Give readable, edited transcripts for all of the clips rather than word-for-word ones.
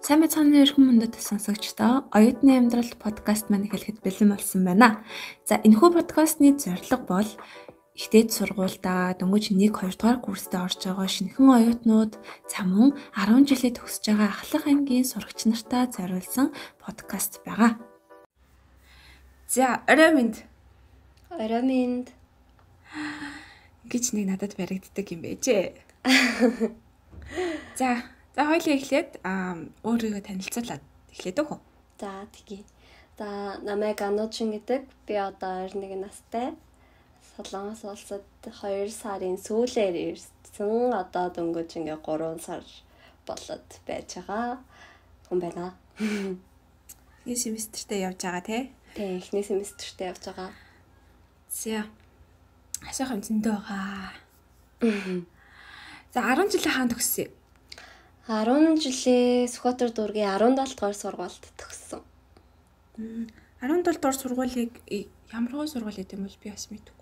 Сайн мэцхан өрхөн мөндөд сонсогчдоо оюутны амьдрал подкаст маань эхлэхэд бэлэн болсон байна. За энэхүү подкастны зорилго бол ихтэйд сургуультай дөнгөж 1-2 дугаар курстэ орж байгаа шинэхэн оюутнууд за мөн 10 жилээ төгсөж байгаа ахлах ангийн сурагч нартай зориулсан подкаст байгаа. За орой минь гэж нэг надад баригддаг юм байжээ. За хоёулаа эхлээд өөрийгөө танилцуулаад эхлэдэг үү? За тэгье. За намайг Ануучин гэдэг. Би одоо 21 настай. Солонгос улсад 2 сарын сүүлээр ирсэн. Одоо дөнгөж ингээ 3 сар болоод байж байгаа хүн байна. Эхний семестртээ явж байгаа тий? Тий, эхний семестртээ явж байгаа. За. Асуух юм зөндөө байгаа. За 10 жилийн хаан төгссөн. 10 жилээ Сүхбаатар дүүргийн 17 дугаар сургуульд төгссөн. 17 дугаар сургуулийг ямар сургууль гэдэг юм бол би бас мэдгүй.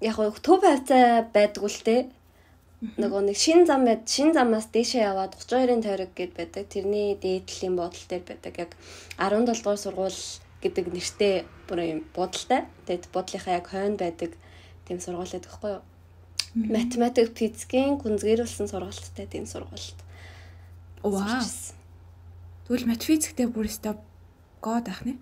Яг төв хавцаа байдаг л те. Нөгөө нэг шин замаас дээшээ яваад 32-ын тойрог гэд байдаг. Тэрний дээдлийн буудлын дээр байдаг. Яг 17 дугаар сургууль гэдэг нэртэй бүр юм буудлтай. Тэгээд буудлынхаа яг хойно байдаг тийм сургууль байдаг хгүй юу? Математик, физикийн гүнзгийрүүлсэн сургалттай тийм сургалт. Вау. Тэгвэл матфизиктэй бүр өстой гоод ах нэ?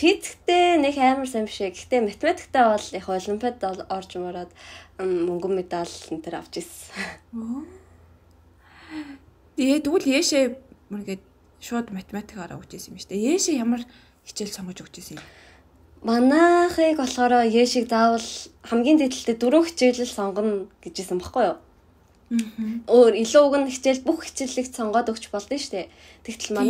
Физиктэй нэг амар сайн биш. Гэхдээ математиктай бол их олимпиад орж мороод мөнгөн медаль энэ төр авч ирсэн. Тэгвэл яашээ мөргээд шууд математикаараа өгч ирсэн юм шүү дээ. Яашээ ямар хичээл сонгож өгч ирсэн юм? Манайхыг болохоор яшиг заавал хамгийн дээдлэлтэй 4 хичээлэл сонгоно гэжсэн баггүй юу? Өөр илүү уг нь хичээл бүх хичээлийг сонгоод өгч болдсон шүү дээ. Тэгтэл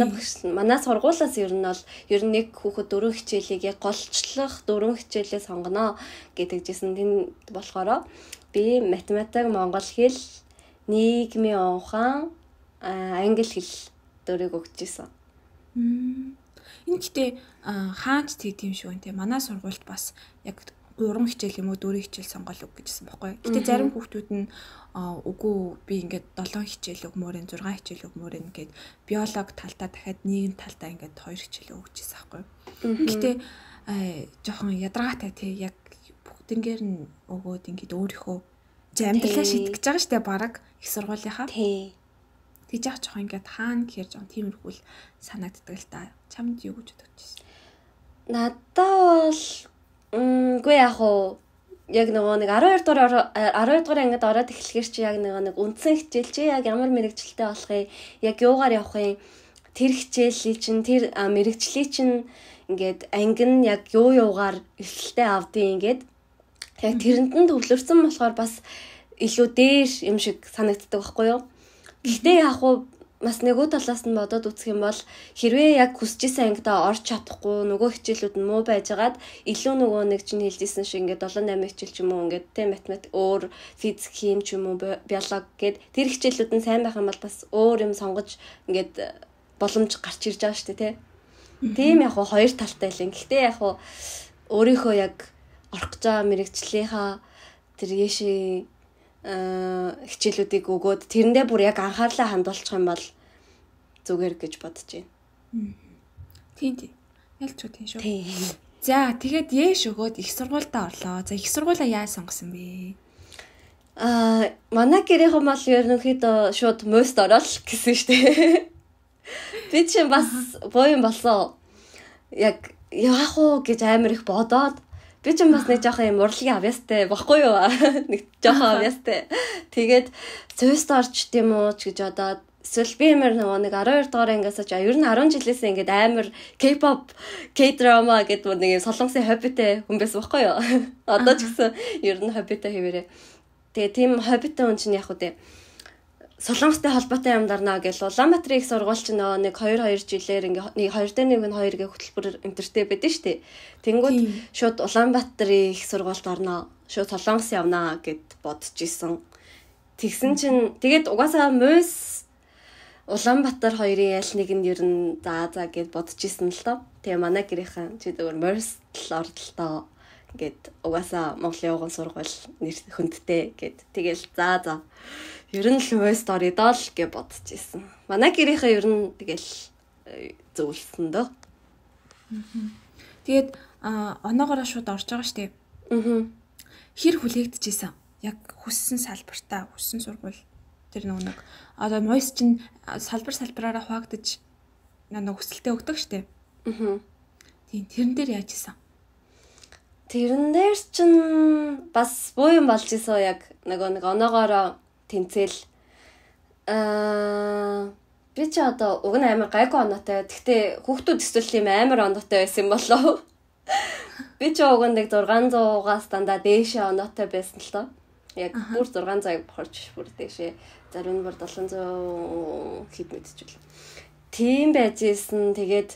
манай сургуулиас ер нь бол нэг хүүхэд 4 хичээлийг яг голчлох 4 хичээлээ сонгоно гэдэгжсэн. Тэн болохоор би математик, монгол хэл, нийгмийн ухаан, англи хэл 4-ийг өгч ирсэн. Энэ гэхдээ хаач тийм шүү нэ. Манай сургуульд бас яг 3 хичээл юм уу 4 хичээл сонгол өг гэжсэн байхгүй. Гэтэ зарим хүүхдүүд нь үгүй би ингээд 7 хичээл өгмөр энэ 6 хичээл өгмөр ингээд биолог талдаа дахиад нийгэм талдаа ингээд 2 хичээл өгчээсэн байхгүй. Гэтэ жоохон ядаргаатай тий яг бүгднгээр нь өгөөд ингээд өөрийнхөө амьдралаа шийдэх гэж байгаа штэ баг их сургуулийнхаа. Тий. Тэгж яах жоохон ингээд хаана гэхэр жоохон тиймэрхүүл санагддаг л та. Чамд юу гэж бодож байна? Надаа бол үгүй яг нөгөө нэг 12 дугаар ангид ороод эхлэхэр чи яг нэг үндсэн хичээл чи яг ямар мэрэгчлэлтэй болохыг яг юугаар явах юм тэр хичээлийг чинь тэр мэрэгчлийг чинь ингээд анги нь яг юугаар эвлэлтэй авдیں۔ Ингээд яг тэрэнд нь төвлөрсөн болохоор бас илүү дээр юм шиг санагддаг байхгүй юу? Гэхдээ яг бас нөгөө талаас нь бодоод үзэх юм бол хэрвээ яг хүсчихсэн ангидаа орж чадахгүй нөгөө хичээлүүд нь муу байжгаад илүү нөгөө нэг чинь хэлжсэн шиг ингээд 7-8 хичээл ч юм уу ингээд тэ математик өөр физик хим ч юм уу биолог гэд тэр хичээлүүд нь сайн байх юм бол бас өөр юм сонгож ингээд боломж гарч ирж байгаа шүү дээ тэ. Тийм яг хоёр талтай л юм. Гэхдээ яг өөрийнхөө яг орох гэж байгаа мэрэгчлийнхаа тэр яшээ хичээлүүдийг өгөөд тэрэндээ бүр яг анхаарлаа хандуулчих юм бол зүгээр гэж бодож байна. Тийм. Ялч тийм шүү. За тэгээд яэш өгөөд их сургуультай орлоо. За их сургуулаа яаж сонгосон бэ? Манай гэрийнхэн бол ерөнхийдөө шууд мост орол гэсэн шүү дээ. Би чинь бас боён болсон. Яг яах уу гэж амар их бодоод би ч бас нэг жоохон юм урлагийн авьяастай баггүй юу? Нэг жоохон авьяастай. Тэгээд Сүйст орч тийм үү ч гэж бодоод эсвэл би ямар нэг 12 дугаар ангиас ч ер нь 10 жилээс ингээд амар K-pop, K-drama гэдэг нэг юм солонгосын хоббитэй хүн байсан баггүй юу? Одоо ч гэсэн ер нь хоббитэй хэвээрээ. Тэгээ тийм хоббитэй хүн чинь яг үү солонгостой холбоотой юм дарнаа гэж Улаанбаатарын их сургууль чинь нэг 2 жилээр ингээ 2-1 2-гийн хөтөлбөр энтертэй байдэн штэ. Тэнгүүд шууд Улаанбаатарын их сургуульд орноо. Шууд солонгос явнаа гэд бодож исэн. Тэгсэн чинь тэгээд угаасаа мөс Улаанбаатар хоёрын аль нэг нь ер нь за гэд бодож исэн л тоо. Тэгээ манай гэрийнхэн чи зөвөр мөс л ордолтоо гэд угаасаа Монголын явган сургууль нэр хүндтэй гэд тэгэл за ер нь лувэст оридоо л гэж бодож ирсэн. Манай гэрийнхээ ер нь тэгэл зөвлөсөн дөө. Тэгээд оноогоороо шууд орж байгаа штеп. Хэр хүлээгдэжсэн? Яг хүссэн салбартаа, хүссэн сургууль тэр нэг одоо мойс чинь салбараараа хуваагдаж нэг хүсэлтэд өгдөг штеп. Тийм тэрэн дээр яаж исэн? Тэрэн дээр чинь бас буу юм болж исэн яг нэг оноогоороо тэнцэл би ч одоо уг нь амар гайгүй оноотой. Гэхдээ хүүхдүүд эсвэл юм амар оноотой байсан юм болов. Би ч уг нь 600-аас дандаа дээшээ оноотой байсан л тоо. Яг бүр 600-ыг бохорч бүр дээшээ. Зарим нь бүр 700 хэд мэдчихвэл. Тийм байж исэн. Тэгээд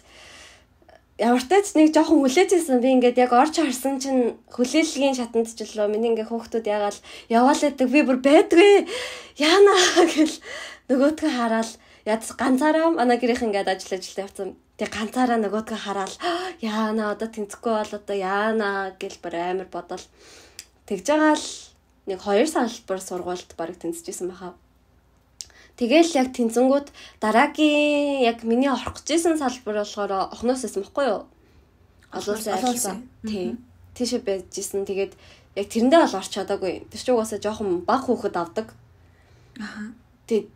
ямар ч тач нэг жоохон хүлээж исэн. Би ингээд яг орч харсан чинь хүлээлгийн шатанд ч лөө миний ингээд хүүхдүүд ягаал яваал байдаг. Би бүр байдгүй. Яана гэл нөгөөдгөө хараад яд ганцаараа манай гэрийнх ингээд ажиллаж явцсан. Тэг ганцаараа нөгөөдгөө хараад яана одоо тэнцэхгүй бол одоо яана гэл бүр амар бодол. Тэгж байгаа л нэг 2 салбар сургуульд бараг тэнцэжсэн баха. Тэгэл яг тэнцэнгүүд дараагийн яг миний орох гэжсэн салбар болохоор охноос байсан байхгүй юу? Олон сайн. Тийм. Тийшээ байжсэн. Тэгээд яг тэрэндээ бол орч чадаагүй. Тэр чинь угаасаа жоохон баг хүүхэд авдаг. Тэгээд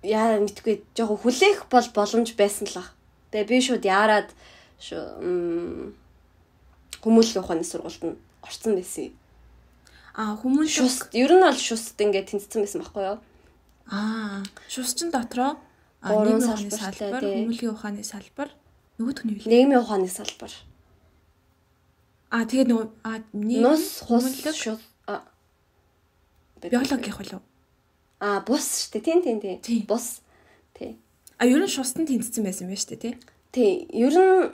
яа мэдгүй жоохон хүлээх бол боломж байсан л ах. Тэгээ би шууд яарад хүмүүнлэгийн ухааны сургуульд нь орсон байсан. Хүмүүс шус ер нь бол шуст ингээд тэнцсэн байсан байхгүй юу? Шусчин дотроо нийгмийн ухааны салбар, хүмүүнлэгийн ухааны салбар, нөгөөх нь юу вэ? Нийгмийн ухааны салбар. Тэгээд нус хус шус биологи гэх болов? Бус шүү дээ. Тийм. Бус. Тий. Ер нь шустан тэнцсэн байсан байх шүү дээ, тий? Тий. Ер нь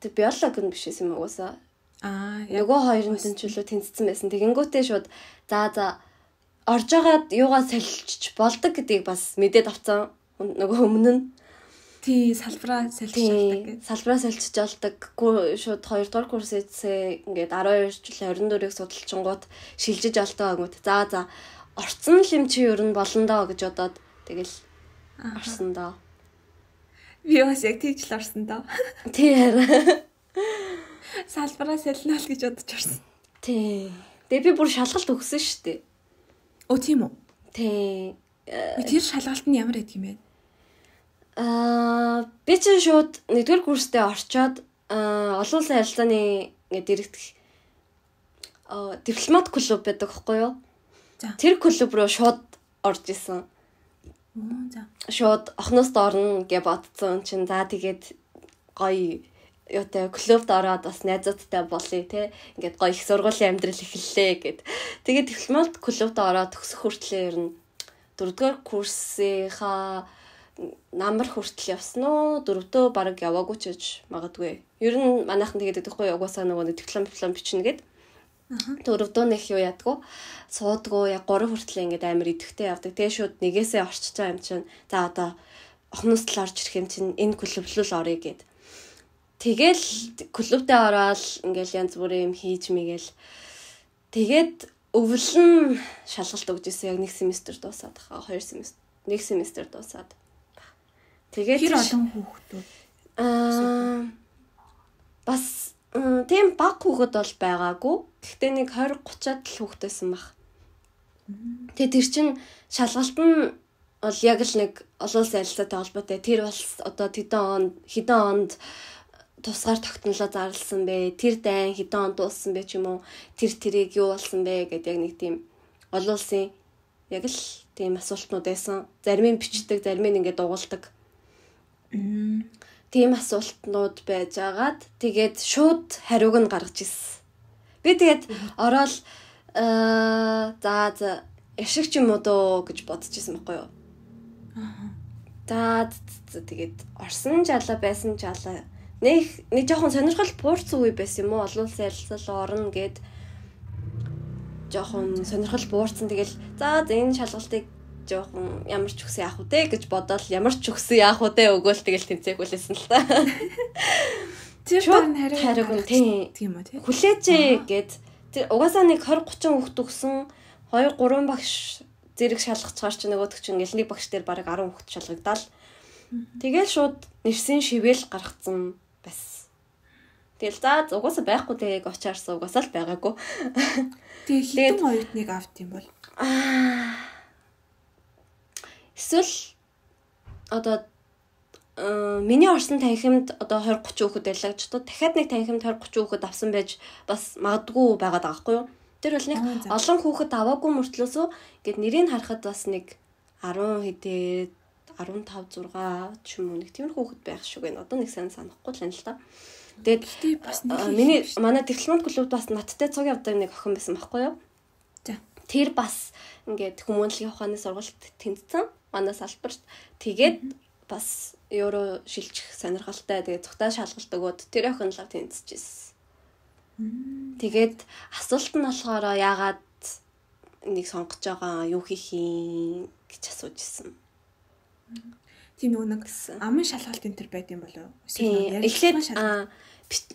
тэг биологи нь биш юм угаасаа. Нөгөө хоёр нь тэнцвэлөө тэнцсэн байсан. Тэгэнгүүтээ шууд за орж агаад юугаа солилцож болдог гэдгийг бас мэдээд авцсан. Нөгөө өмнө нь тий салбараа солилцож болдог гэж. Салбараа солилцож болдог. Шууд 2 дугаар курсээсээ ингээд 12 жил 24-ийг судалчингууд шилжиж олдоо гэмэд. За орцсон юм чи ер нь болно доо гэж бодоод тэгэл орсон доо. Би бас яг тийж л орсон доо. Тий хараа. Салбараа солино л гэж бодож орсон. Тий. Тэгээ би бүр шалгалт өгсөн шүү дээ. Тийм үү? Тий. Тэр шалгалт нь ямар байдаг юм бэ? Би ч шууд 1-р курстээ орчоод олон улсын харилцааны ингээд дэрэгдэх дипломат клуб байдаг байхгүй юу? Тэр клуб руу шууд орж исэн. Шууд охноос орно гэж бодсон чинь за тэгээд гоё юутай клубд ороод бас найзуудтай болъё те. Ингээд гоё их сургуулийн амьдрал эхэллээ гэд. Тэгээд дипломат клубд ороод төгсөх хүртлээр ер нь 4-р курсынхаа намар хүртэл явсан уу? 4-дөө баг яваагүй ч гэж магадгүй. Ер нь манайхан тэгээд өгөхгүй угаасаа нөгөө диплом бичнэ гэд. 4-дөө нэх юу ядгүй. Суудгүй яг 3 хүртэл ингээд амар идэвхтэй явдаг. Тэгээ шууд нэгээсээ орчиж байгаа юм чинь. За одоо охноос л орж ирэх юм чинь энэ клуб л орё гэд. Тэгэл клубтээ ороод ингээл янз бүрийн юм хийж мэгэл. Тэгээд өвлөн шалгалт өгч ирсэн яг 1 семестр дуусаад хаа 2 семестр 1 семестр дуусаад. Тэгээд хэр олон хүүхдүүд бас тийм баг хүүхэд бол байгаагүй. Гэхдээ нэг 20-30-аад л хүүхдээсэн баг. Тэгээд тэр чин шалгалт нь бол яг л нэг олон улсын харилцаатай холбоотой. Тэр бол одоо хэдэн онд тусгаар тогтнолоо зарласан бэ? Тэр дайн хэдэн онд дууссан бэ ч юм уу? Тэрийг юу болсон бэ гэдэг яг нэг тийм олон улсын яг л тийм асуултнууд байсан. Зарим нь бичдэг, зарим нь ингээд дугуулдаг. Тийм асуултнууд байж агаад тэгээд шууд хариуг нь гаргаж ирсэн. Би тэгээд ороод за яшиг ч юм уу дөө гэж бодож ирсэн байхгүй юу? За тэгээд орсон жаалаа байсан жаалаа. Нэг жоохон сонирхол буурсан үе байсан юм уу? Олон улсын харилцаа орно гэд жоохон сонирхол буурсан. Тэгэл за энэ шалгалтыг жоохон ямар ч өгсөн яах вэ гэж бодоод ямар ч өгсөн яах вэ өгөөл тэгэл тэнцээх хүлээсэн л та. Тэр хариуг нь тийм үү тий. Хүлээжээ гэд тэр угаасаа нэг 20-30 хүүхд өгсөн 2-3 багш зэрэг шалгацгаар чи нөгөөдөг чинь ингээл нэг багш дээр бараг 10 хүүхэд шалгагдаал. Тэгэл шууд нэрсийн шивэл гаргацсан бас. Тэгэл за угаасаа байхгүй тэгээ очаарсан угаасаа л байгаагүй. Тэгээ хитэн оюутныг авт юм бол. Эсвэл одоо миний орсон танхимд одоо 20-30 хүүхэд байлаа гэж бодоод дахиад нэг танхимд 20-30 хүүхэд авсан байж бас магадгүй байгаад байгаа байхгүй юу? Тэр бол нэг олон хүүхэд аваагүй мөртлөөсөө ингээд нэрийг харахад бас нэг 10 хэдээ 15 6 ч юм уу нэг тиймэр хүүхэд байх шиг байна. Одоо нэг сайн санахгүй л юм л та. Тэгээд бас миний манай дипломат клубд бас надтай цуг явдаг нэг охин байсан байхгүй юу? За. Тэр бас ингээд хүмүүнлэгийн ухааны сургалт тэнцсэн. Манай салбарт тэгээд бас евро шилжих сонирхолтой тэгээд цогтой шалгалт өгөөд тэр охин л тэнцэжсэн. Тэгээд асуулт нь болохоор яагаад нэг сонгож байгаа юу хийх юм гэж асууж ирсэн. Тийм нэг аман шалгалт энэ төр байд юм болов уу? Эхлээд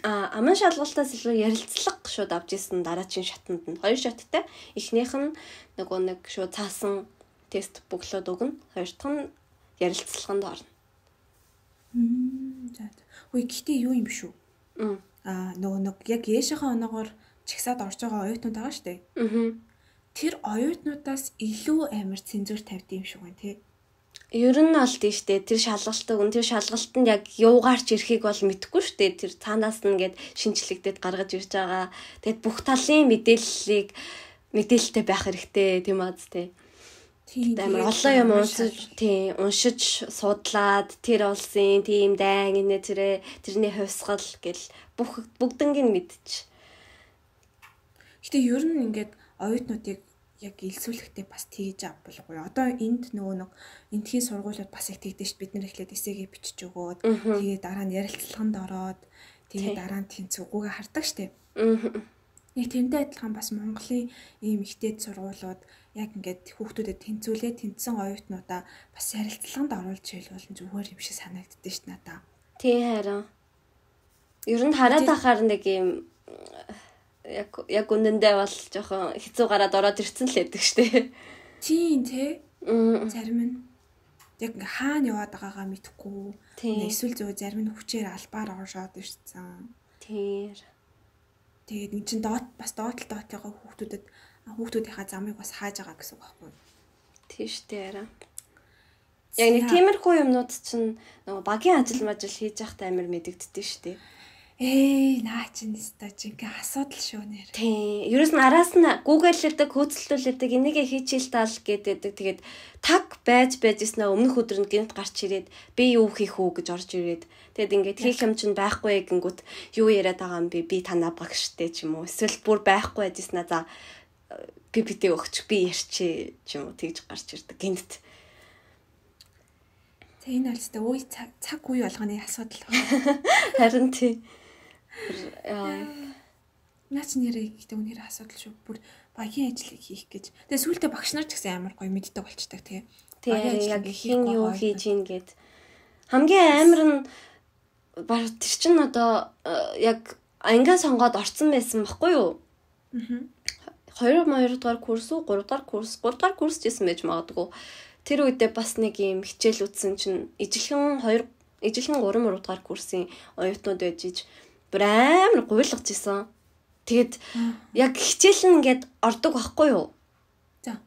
аман шалгалтаас илүү ярилцлага шууд авч ирсэн дараагийн шатанд нь 2 шаттай. Эхнийх нь нөгөө нэг шууд цаасан тест бөглөөд өгнө. Хоёр дахь нь ярилцлаганд орно. За. Хөөе гэхдээ юу юм шүү? Нөгөө нэг яг яшийнхаа оноогоор чагсаад орж байгаа оюутнууд байгаа шүү дээ. Тэр оюутнуудаас илүү амар цензур тавьд юм шиг байна тий. Ер нь бол тийштэй тэр шалгалтыг тэр шалгалтанд яг юугаарч ирэхийг бол мэдэхгүй шүү дээ. Тэр цаанаас нь ингээд шинжлэгдээд гаргаж ирж байгаа. Тэгэд бүх талын мэдээлэлтэй байх хэрэгтэй тийм аз тий. Амар олон юм уншиж судлаад тэр улсын тийм дайн тэрний хувьсгал гэл бүгднийг мэдчих. Гэтэ ер нь ингээд оюутнуудыг яг илсүүлэхдээ бас тэгж авбалгүй. Одоо энд нөгөө нэг энтхийн сургуулиуд бас их тэгдэж бид нар эхлээд эсээгээ бичиж өгөөд тэгээ дараа нь ярилцлаганд ороод тэгээ дараа нь тэнцвүүгүйгээ хардаг штеп. Яг тэрнтэй адилхан бас Монголын ийм ихтэй сургуулиуд яг ингээд хүүхдүүдэд тэнцсэн оюутнуудаа бас ярилцлаганд оруулж ийл болон зүгээр юм шиг санагддээ ш надаа. Тий харин. Ер нь хараад ахаар нэг юм яг үнэндээ бол жоохон хэцүү гараад ороод ирцэн л байдаг штэ. Тийм тий. Зарим нь яг ингээ хаана яваад байгаагаа мэдэхгүй. Эсвэл зөв зарим нь хүчээр албаар оршоод ирсэн. Тэр. Тэгээд эн чин доотлогоо хүүхдүүдийнхаа замыг бас хааж байгаа гэсэн үг байхгүй. Тийш дээ. Яг нэг тиймэрхүү юмнууд чинь нөгөө багийн ажил хийж явахдаа амар мэдэгддээ штэ. Наа чинь нэстэ жинхэнэ асуудал шүү нэр. Тийм. Ерөөс нь араас нь гуглэлдэг, хөөцөлдүүлдэг, энийгээ хийчихэл таал гэдэг. Тэгээд таг байж ирсэн өмнөх өдөр нь гинт гарч ирээд би юу хийх үү гэж орж ирээд тэгэд ингээд хийх юм чинь байхгүй гингүүт юу яриад байгаа юм би танаа багштэй ч юм уу. Эсвэл бүр байхгүй байжсэн аа за PPT өгч би ярьчих ч юм уу тэгж гарч ирдэг гинт. Энэ алстай үе цаг үе болгоны асуудал байна. Харин тий. Наач нэрээ гэдэг үнээр асуудал шүү. Бүр багийн ажлыг хийх гэж. Тэгээ сүүлдээ багш нар ч гэсэн амар гоё мэддэг болчдаг тий. Тэгээ яг хин юу хийж ийн гэд. Хамгийн амар нь баг тэр чин одоо яг ангиа сонгоод орцсон байсан баггүй юу? 2 дугаар курс уу 3 дугаар курс гэсэн байж магадгүй. Тэр үедээ бас нэг юм хичээл үтсэн чинь ижилхэн 3 дугаар курсын оюутнууд байж иж бүр амар гуйлгаж исэн. Тэгэд яг хичээл нь ингээд ордог байхгүй юу?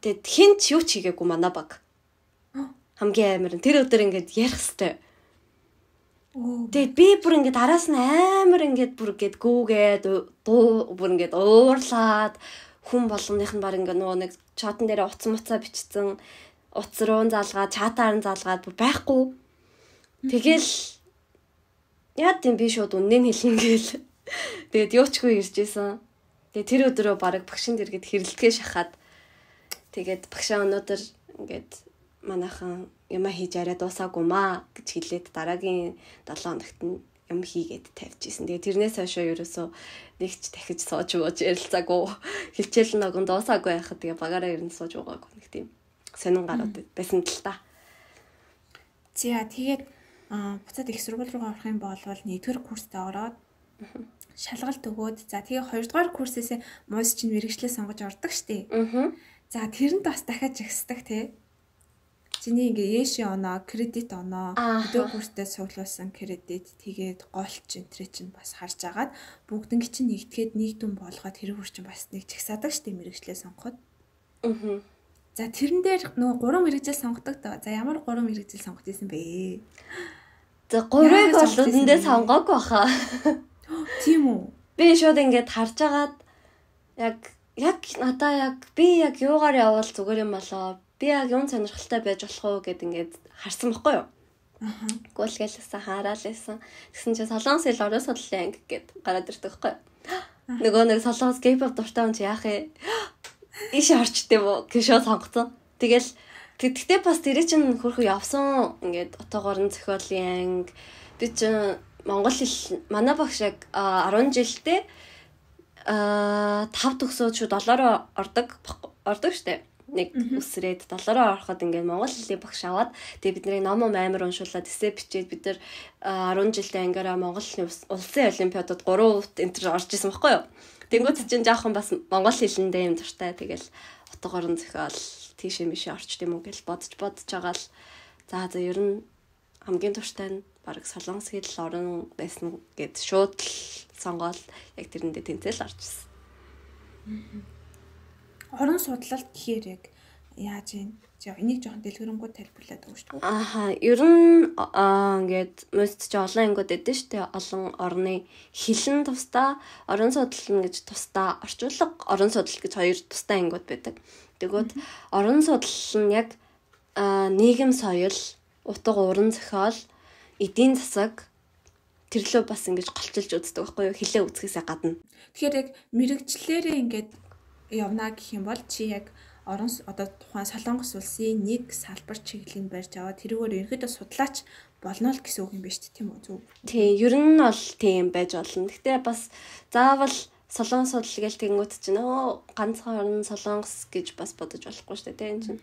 Тэгэд хин ч юу ч хийгээгүй манай баг. Хамгийн амар нь тэр өдөр ингээд ярих хэвээр. Тэгээд би бүр ингээд араас нь амар ингээд бүр ингээд гүүгээд бүр ингээд уурлаад хүн болгоных нь баг ингээд нөгөө нэг чатан дээр уцаа бичсэн утас руу заалгаад чатаар нь заалгаад бүр байхгүй. Тэгэл яа гэм би шууд үнэн хэлин гээл. Тэгээд юучгүй ирж исэн. Тэгээд тэр өдрөө баг багшин дэргэд хэрэлдэгээ шахаад тэгээд багшаа өнөөдөр ингээд манайхан юмаа хийж арай дуусаагүй маа гэж хэлээд дараагийн 7 хоногт нь юм хийгээд тавьчихсэн. Тэгээд тэрнээс хойш ерөөсөө нэг ч дахиж сууж ярилцаагүй. Хилчээл нэгэн дуусаагүй байхад тэгээ багаараа ирэн сууж байгаагүй нэг тийм сонин гарууд байсан л та. За тэгээд буцаад их сургууль руу орох юм бол 1-р курстээ ороод шалгалт өгөөд за тэгээ 2-р курсээс муус чинь мэргэжлээ сонгож ордог штеп. За тэрэнд бас дахиад жагсдаг тий. Чиний ингээ яши оноо, кредит оноо, өдөр бүртээ цуглуулсан кредит тэгээд голч энтрэ чинь бас харж агаад бүгднг чинь нэгтгэхэд нэг дүн болгоод хэрэг хурчин бас нэг жагсаадаг штеп мэрэгчлээ сонгоход. За тэрэн дээр нөгөө 3 мэрэгжил сонгодог доо. За ямар 3 мэрэгжил сонгох гэсэн бэ? За 3-ыг бол үндэ сонгоогүй баха. Тийм үү? Би шууд ингээд харж агаад яг надаа яг би яг юугаар явбал зүгээр юм болоо. Би яг юм сонирхолтой байж болох уу гэд ингээд харсан байхгүй юу? Гүйлгэлсэн хараалсан. Тэгсэн чинь Солонгос хэл орон судлалын анги гэд гараад ирдэг байхгүй юу? Нөгөө нэг Солонгос K-pop дуртай хүн чи яах вэ? Иш орчтой юу гэж сонгоцсон. Тэгтээ бас тэр чинь хөрхөө явсан ингээд отоогоор нь зохиолын анги. Би чинь Монгол хэл манай багш яг 10 жилдээ 5 төгсөөд шууд 7-ороо ордог штэ. Нэг үсрээд 7-ороо ороход ингээд Монгол хэлний багш аваад тэгээ бидний ном амар уншуулад эссе бичээд бид нар 10 жилдээ ангаараа Монгол хэлний улсын олимпиадад 3 өвт энэ төр орж исэн байхгүй юу. Тэнгүүд чинь жоохон бас Монгол хэлэндээ юм дуртай. Тэгэл утгаар нь зохиол тийшээ мишээ орчд юм уу гэж бодож байгаа л за ер нь хамгийн дуртай нь бараг Солонгос хэл орон байсан гэд шууд сонгоол яг тэрэндээ тэнцэл орж ирсэн. Орон судлалт гэхээр яг яаж юм? Энийг жоохон дэлгэрэнгүй тайлбарлаад өгч шүү дээ. Ер нь ингээд most ч олон ангиуд эдэн штэ олон орны хэлэн тусдаа орон судлал гэж тусдаа орчуулга орон судлал гэж хоёр тусдаа ангиуд байдаг. Тэгвэл орон судлал нь яг нийгэм соёл, утга уран зохиол, эдийн засаг тэрлөө бас ингэж голчилж үздэг байхгүй юу? Хэлээ үзэхээсээ гадна. Тэгэхээр яг мэрэгчлэрээ ингээд явна гэх юм бол чи яг одоо тухайн Солонгос улсын нэг салбар чиглэлийг барьж аваад тэрүүгээр ерөөдөө судлаач болно л гэсэн үг юм байна шүү дээ, тийм үү? Зөв. Тийм, ер нь бол тийм байж болно. Гэхдээ бас заавал Солонгос судлал гэж тэнгуут чинь ганцхан орн Солонгос гэж бас бодож болохгүй шүү дээ, тийм чинь.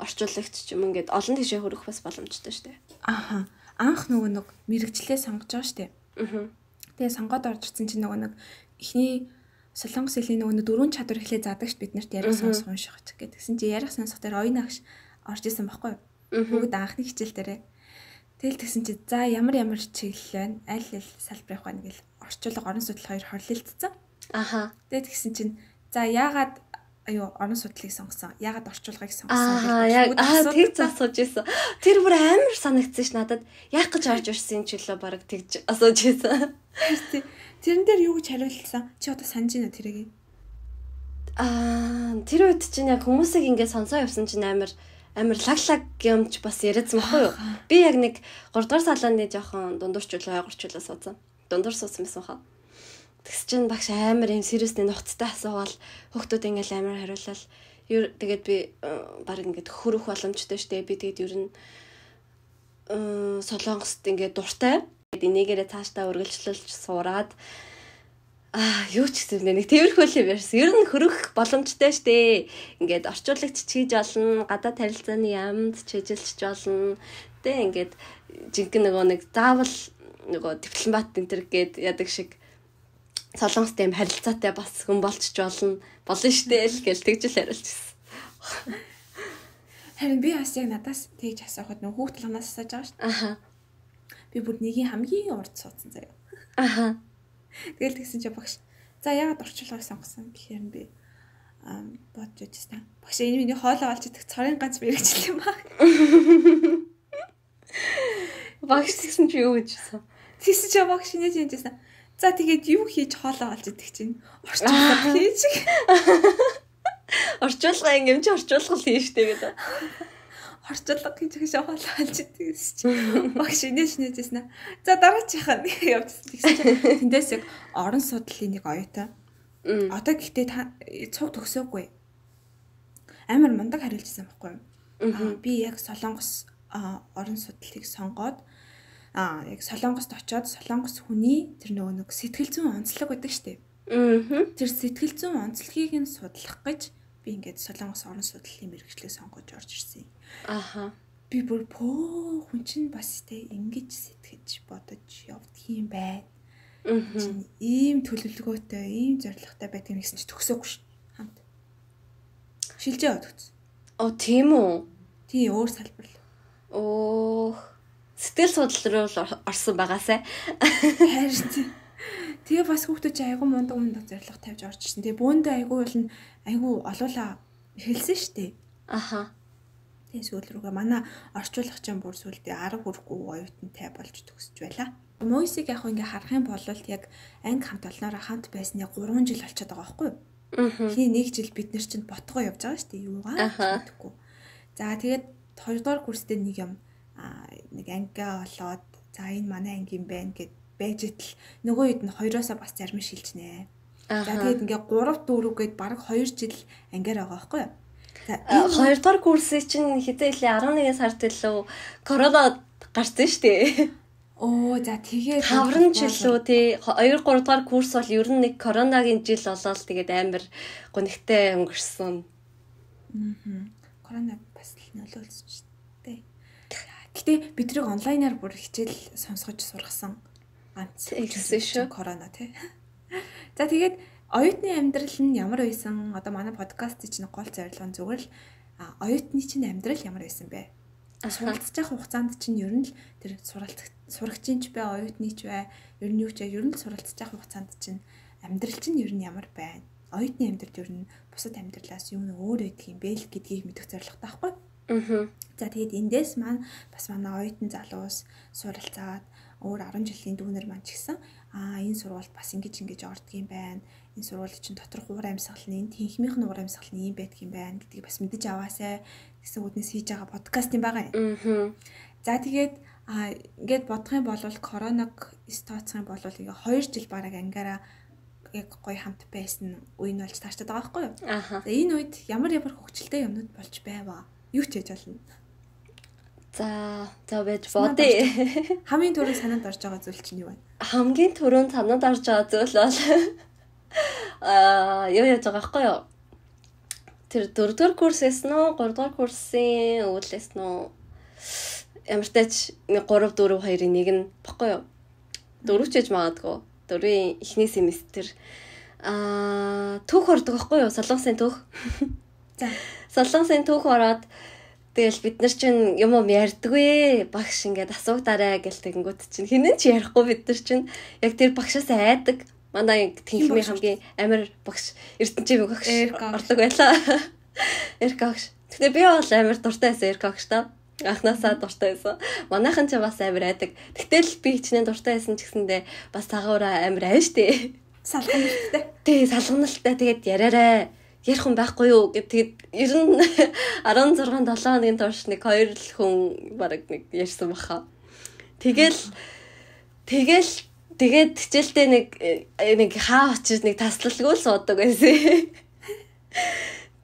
Орчуулагч ч юм ингээд олон тийшээ хөрөх бас боломжтой шүү дээ. Анх нөгөө нэг мэрэгчлээ сонгож байгаа шүү дээ. Тэгээ сонгоод орж ирсэн чинь нөгөө нэг эхний Солонгос хэлний нөгөө 4 чадвар хэлээ заадаг ш бид нарт ярих сонсох унших гэж. Тэгсэн чи ярих сонсох дээр оюун агш орж исэн байхгүй юу? Бүгд анхны хичээл дээрээ. Тэгэл тэгсэн чи за ямар чиглэл байна? Аль салбар явах байна гэл орчуулга орон судлал хоёр хорлолцсон. Тэгээд тэгсэн чинь за яагаад орон судлалыг сонгосон? Яагаад орчуулгыг сонгосон? Яг тэг асууж ирсэн. Тэр бүр амар санагдсан ш надад. Яах гэж орж ирсэн ч лөө бараг тэгж асууж ирсэн. Тэрэн дээр юу гэж хариулсан? Чи одоо санаж байна тэрийг? Тэр үед чинь яг хүмүүсийг ингээд сонсоо явсан чинь амар лаглаг юмч бас яриадсан байхгүй юу? Би яг нэг 3 дугаар салааны жоохон дундуурчлаа, ойгорчлаа суудсан. Дундуур суудсан байсан хаа. Тэгс чинь багш амар юм сериусны нухацтай асуугаал хүүхдүүд ингээд амар хариулал. Тэгээд би баг ингээд хөрөх боломжтой штэ. Би тэгээд ер нь Солонгост ингээд дуртай. Энийгээрээ цаашдаа үргэлжлүүлж сураад юу ч гэсэн нэг тэрхүү л юм ярьсан. Ер нь хөрөх боломжтой штэ. Ингээд орчуулагч хийж болно, гадаад харилцааны ямд чижилч болно. Тэ ингээд жинхэнэ нэг заавал дипломат энэ төр гээд ядаг шиг Солонгостой юм харилцаатай бас хүн болчих болно штэ л гэж тэгжэл хариулчихсан. Харин би бас яг надаас тэгж асуухад нөх хүүхд талаас асууж байгаа штэ. Би бүр нэгийн хамгийн урд суудсан заяа. Тэгэл тэгсэн чи багш. За яагаад орчуулгыг сонгосон гэхээр би бодож үзсэн. Багш энэ миний хоолоо олж идэх цорын ганц мэрэгжил юм аа. Багш тэгсэн чи юу гэжсэн? Тэгсэн чи багш нэж юмжсэн. За тэгээд юу хийж хоолоо олж идэх чинь орчуулга хийж. Орчуулга юм чи орчуулга хийн штэ гэдэг. Орчуулга хийж хэшээ хоолоо олж идэх чинь. Багш нээжсэн. За дараачиххан явчихсан. Тэгсэн чи тэндээс яг орон судлалын нэг оюутай. Одоо гэхдээ та цуг төгсөөгүй. Амар мундаг хариулжсэн байхгүй юу? Би яг Солонгос орон судлалыг сонгоод яг Солонгост очиод Солонгос хүний тэр нөгөө нэг сэтгэл зүйн онцлог байдаг штеп. Тэр сэтгэл зүйн онцлогийг нь судлах гэж би ингээд Солонгос орон судлалын мэргэжлийг сонгож орж ирсэн. Би бүр хүн чинь бас тэ ингэж сэтгэж бодож явдаг юм байна. Ийм төлөвлөгөөтэй, ийм зорилготой байдаг юм гэсэн чи төгсөөгүй ш. Хамт. шилжээ өгсөн. Тийм үү? Тий, өөр салбар л. Сэтгэл судлал руу орсон байгаасай. Харин тэгээ бас хүүхдүүд чи айгу мундаг зорилго тавьж орж ирсэн. Тэгээ бөөндөө айгу олоола хэлсэн штэ. Аха. Тэгээ сүүл рүүгээ манай орчуулагчийн бүр сүүлдээ 10 хүрэхгүй оюутантай болж төгсөж байла. Мойсиг яг ингээ харах юм бол яг анги хамт олноороо хамт байсны 3 жил болчиход байгаа байхгүй юу? Хий 1 жил бид нар чинь ботгоо явж байгаа штэ юугаа мэдгүй. За тэгээд 2 дугаар курстэй нэг юм нэг ангиа олоод за энэ манай ангийн байна гэд байж итл нөгөө хэд нь хоёроосоо бас зарим шилжнэ. За тэгээд ингээ 3 4 гээд бараг 2 жил ангиар байгаа байхгүй юу? За 2 дугаар курсын чинь хэдэн илээ 11 сард илүү корона гарсан штэ. За тэгээд 5 жил лөө тий 2 3 дугаар курс бол ер нь нэг коронагийн жил болоод тэгээд амар гонхтой өнгөрсөн. Корона бас л нөлөөлсөн шүү дээ. Гэтэ бидрийг онлайнаар бүр хичээл сонсгож сургасан. Ганц гэсэн шүү. Корона тий. За тэгээд оюутны амьдрал нь ямар байсан? Одоо манай подкаст чинь гол зорилго нь зүгээр л оюутны чинь амьдрал ямар байсан бэ? Суралцж явах хугацаанд чинь ер нь л тэр сурагчийн ч бай, оюутны ч бай, ер нь юу ч ер нь л суралцж явах хугацаанд чинь амьдрал чинь ер нь ямар байна? Оюутны амьдрал ер нь бусад амьдралаас юу нэг өөр байдаг юм бэ л гэдгийг мэдэх зорилготой байхгүй? За тэгээд эндээс маань бас манай оюутан залуус суралцаад өөр 10 жилийн дүүнер маань ч гэсэн энэ сургуульд бас ингэж ордог юм байна. Энэ сургуулийн чинь доторх уур амьсгал нь энэ тэнхмийнх нь уур амьсгал нь юм байдаг юм байна гэдгийг бас мэдэж аваасай гэсэн үднэс хийж байгаа подкаст юм байгаа юм. За тэгээд ингээд бодох юм бол короног тооцох юм бол ингээ 2 жил бараг ангаараа яг гоё хамт байсан үе нь болж таашаад байгаа байхгүй юу? За энэ үед ямар хөвгчлөлтэй юмнууд болж байваа? Юу ч хийж болно. За байж бодъё. Хамгийн түрүү санаанд орж байгаа зүйл чинь юу вэ? Хамгийн түрүүнд санаанд орж байгаа зүйл бол юу яаж байгаа байхгүй юу? Тэр 4 дугаар курсээс нөө 3 дугаар курсын өвлөөс нөө ямар тач 3 4 2-ын 1 нь баггүй юу? 4 ч гэж магадгүй. 4-ийн эхний семестр түүх ордог байхгүй юу? Солонгосын түүх. За солонгосын түүх ороод тэгэл бид нар чинь юм ярьдаггүй багш ингээд асуугдараа гэл тэгэнгүүт чинь хинэн ч ярихгүй бид нар чинь яг тэр багшаас айдаг. Манай тэнхмийн хамгийн амар багш Эрдэнэчийн багш ордог байлаа. Эрка багш. Тэгтээ би бол амар дуртай байсан Эрка багш та. Анхнаасаа дуртай байсан. Манайхан ч бас амар айдаг. Тэгтэл би хичнээн дуртай байсан ч гэсэндээ бас цагаараа амар айн штэ. Салганалтай. Тий, салганалтай. Тэгээд яриараа ярих хүн байхгүй юу гэд тэгээд ер нь 16 7 хоногийн турш нэг 2 л хүн бараг нэг ярьсан баха. Тэгээд хичээлдээ нэг хаа очиж нэг таслалгүй л суудаг байсан.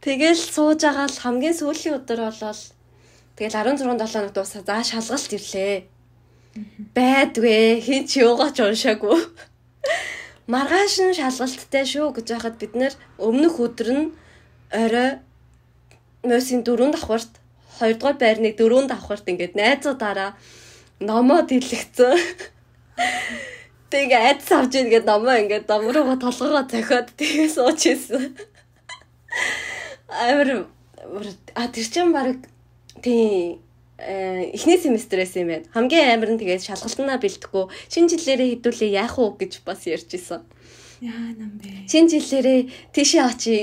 Тэгэл сууж байгаа л хамгийн сүүлийн өдөр болол тэгэл 16 7 хоног дуусаа за шалгалт ирлээ. Байдгүй хин ч юугаа ч уншаагүй. Маргааш нь шалгалттай шүү гэж байхад бид нэр өмнөх өдөр нь орой мөсийн 4 давхарт 2 дугаар байрны 4 давхарт ингээд найзуудаараа номоо дэлгэцэн. Тэгээ айдас авч ингээд номоо ингээд номроо толгоогоо зохиод тэгээ сууж ийсэн. Тэр чинь баг тий эхний семестрээс юм байна. Хамгийн амар нь тэгээд шалгалтнаа бэлдэхгүй шинэ жилээрээ хэдүүлээ яах уу гэж бас ярьж исэн. Яа нам бэ. Шинэ жилээрээ тийшээ очи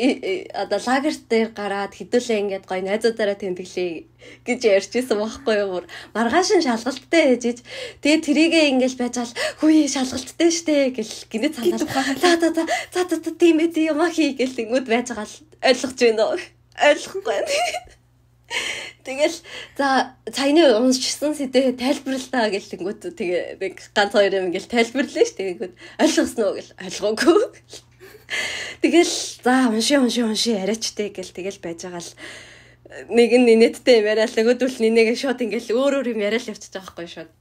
одоо лагерт дээр гараад хэдүүлээ ингээд гоё найзуудаараа тэмдэглэе гэж ярьж исэн байхгүй юу. Маргааш нь шалгалттай ээжиж тэгээд тэрийгээ ингээд байжал хөөе шалгалттай штэ гэл гинэ цаанаа. За тийм ээ юм хий гэл тэнгүүд байж байгаа л ойлгож байна уу? Ойлгохгүй. Тэгэл за цайны уншсан сэдвээ тайлбарлаа гэлэнгүүт тэгээ нэг ганц хоёр юм ингээл тайлбарлаа ш тэгэнгүүт ойлгосноо гэл ойлгоогүй. Тэгэл за унши яриачтэй гэл тэгэл байж байгаа л нэг нь нэттэй юм яриа л нөгөөдөл нинэгээ шууд ингээл өөр юм яриа л явчихж байгаа байхгүй шууд.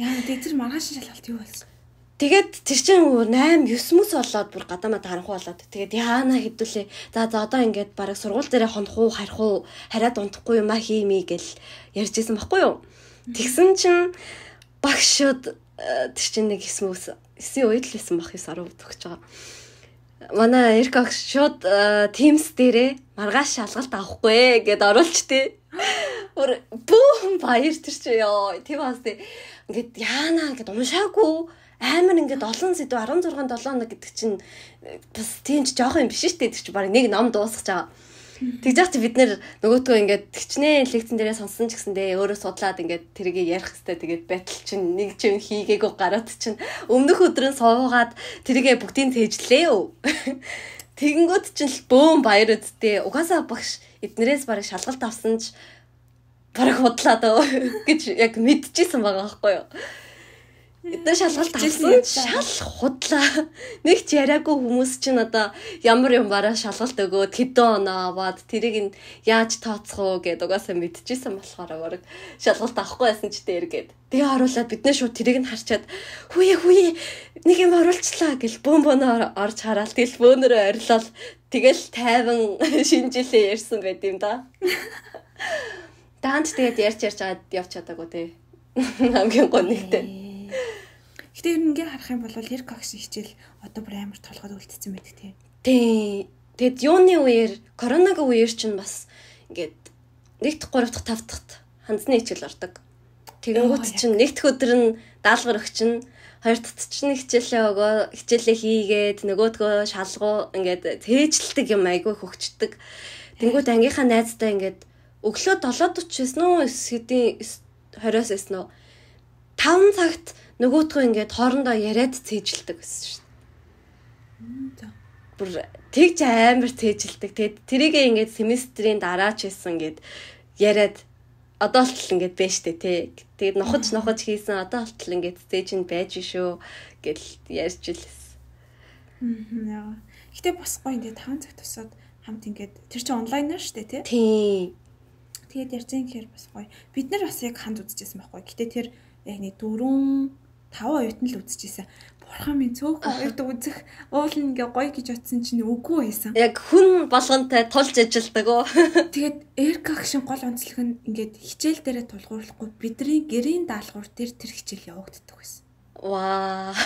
Яа тэр маргааш шалгалт юу болсон? Тэгээд тэр чинь 8 9 мэс болоод бүр гадаамаа харанхуу болоод тэгээд яана хэдүүлээ. За одоо ингээд бараг сургууль дээрээ хонох уу харих уу хараад унтахгүй юм а хиймий гэл ярьжсэн байхгүй юу. Тэгсэн чинь багшуд тэр чинь нэг 9 үед л байсан бах 9 10 төгсөж байгаа. манай Эрик ах шууд Teams дээрээ маргааш шалгалт авахгүй гэд оруулчтээ. Бүүн баяр тэр чи ёо. Тийм бас ингээд яана гэд уншаагүй амар ингээд олон сэдв 16 7 хоног гэдэг чинь бас тийм ч жоох юм биш шүү дээ. Тэр чи баг нэг ном дуусгаж байгаа. Тэгж яах чи бид нэр нөгөөтгөө ингээд тэгчнээ лекцэн дээрээ сонсон ч гэсэндээ өөрөө судлаад ингээд тэрийг ярих хэвээр тэгээд байтал чинь нэг ч юм хийгээгүй гараад чинь өмнөх өдрөө суугаад тэрийгээ бүгдийг цээжлээ юу. Тэгэнгүүт чинь л бөөм баяр үсттэй. Угаасаа багш эднэрээс барыг шалгалт авсан ч барыг худлаа дөө гэж яг мэдчихсэн байгаа байхгүй юу. Эдгээр шалгалт авсан шал худлаа. Нэг ч яриаггүй хүмүүс чинь одоо ямар юм бараа шалгалт өгөөд хэдэн оноо аваад тэрийг нь яаж тооцох уу гэд угаасаа мэдчихсэн болохоор шалгалт авахгүй байсан ч дээр гэд. Тэгээ оруулаад бид нэ шууд тэрийг нь харчаад хүүе нэг юм оруулчлаа гэл бөөнөө орж хараад тэгэл бөөнөрөө орилол тэгэл тайван шинжилээ ярьсан байт юм да. Даанч тэгээд ярьж аваад явж чадаагүй те. Хамгийн гол нэгтэй. Гэтэ ер нь ингээ харах юм бол Эрик агшин хичээл одоо бүр амар толгойд үлдсэн байдаг тий. Тий. Тэгэд юуны үеэр коронагийн үеэр чинь бас ингээд 1 дахь 3 дахь 5 дахьт хандсны хичээл ордог. Тэгэнгүүт чинь 1 дахь өдөр нь даалгавар өгч чинь 2 дахьт чинь хичээлээ хийгээд нөгөөдгөө шалгуу ингээд цээжилдэг юм айгүй хөгждөг. Тэнгүүд ангийнхаа найзтай ингээд өглөө 7:49 нөө хэдийн 20-оос эснэ 5 цагт нөгөөтгөө ингээд хоорондоо яриад цээжилдэг гэсэн шүү дээ. Бүр тэгж амар цээжилдэг. Тэгээд тэрийгээ ингээд семестрийн дараа ч хийсэн гээд яриад одоо л ингээд байж тээ тий. Тэгээд нохож хийсэн одоо л ингээд цээж нь байж шүү гэл ярьж илсэн. Яа. Гэтэ бас гоё ингээд 5 цаг тусаад хамт ингээд тэр чинь онлайнаар шүү дээ тий. Тий. Тэгээд ярьсан гэхээр бас гоё. Бид нар бас яг ханд үзчихсэн байхгүй. Гэтэ тэр яг нэг 4-5 оюутан л үзчихсэн. Бурхан минь цөөхөн оюутан үзэх уул нь ингээ гоё гэж утсан чинь үгүй байсан. Яг хүн болгонтэй тулж ажилдаг оо. Тэгээд Эрик агшин гол онцлог нь ингээд хичээл дээрээ тулгуурлахгүй бидний гэрийн даалгавар дээр тэр хичээл явагддаг байсан. Ваа.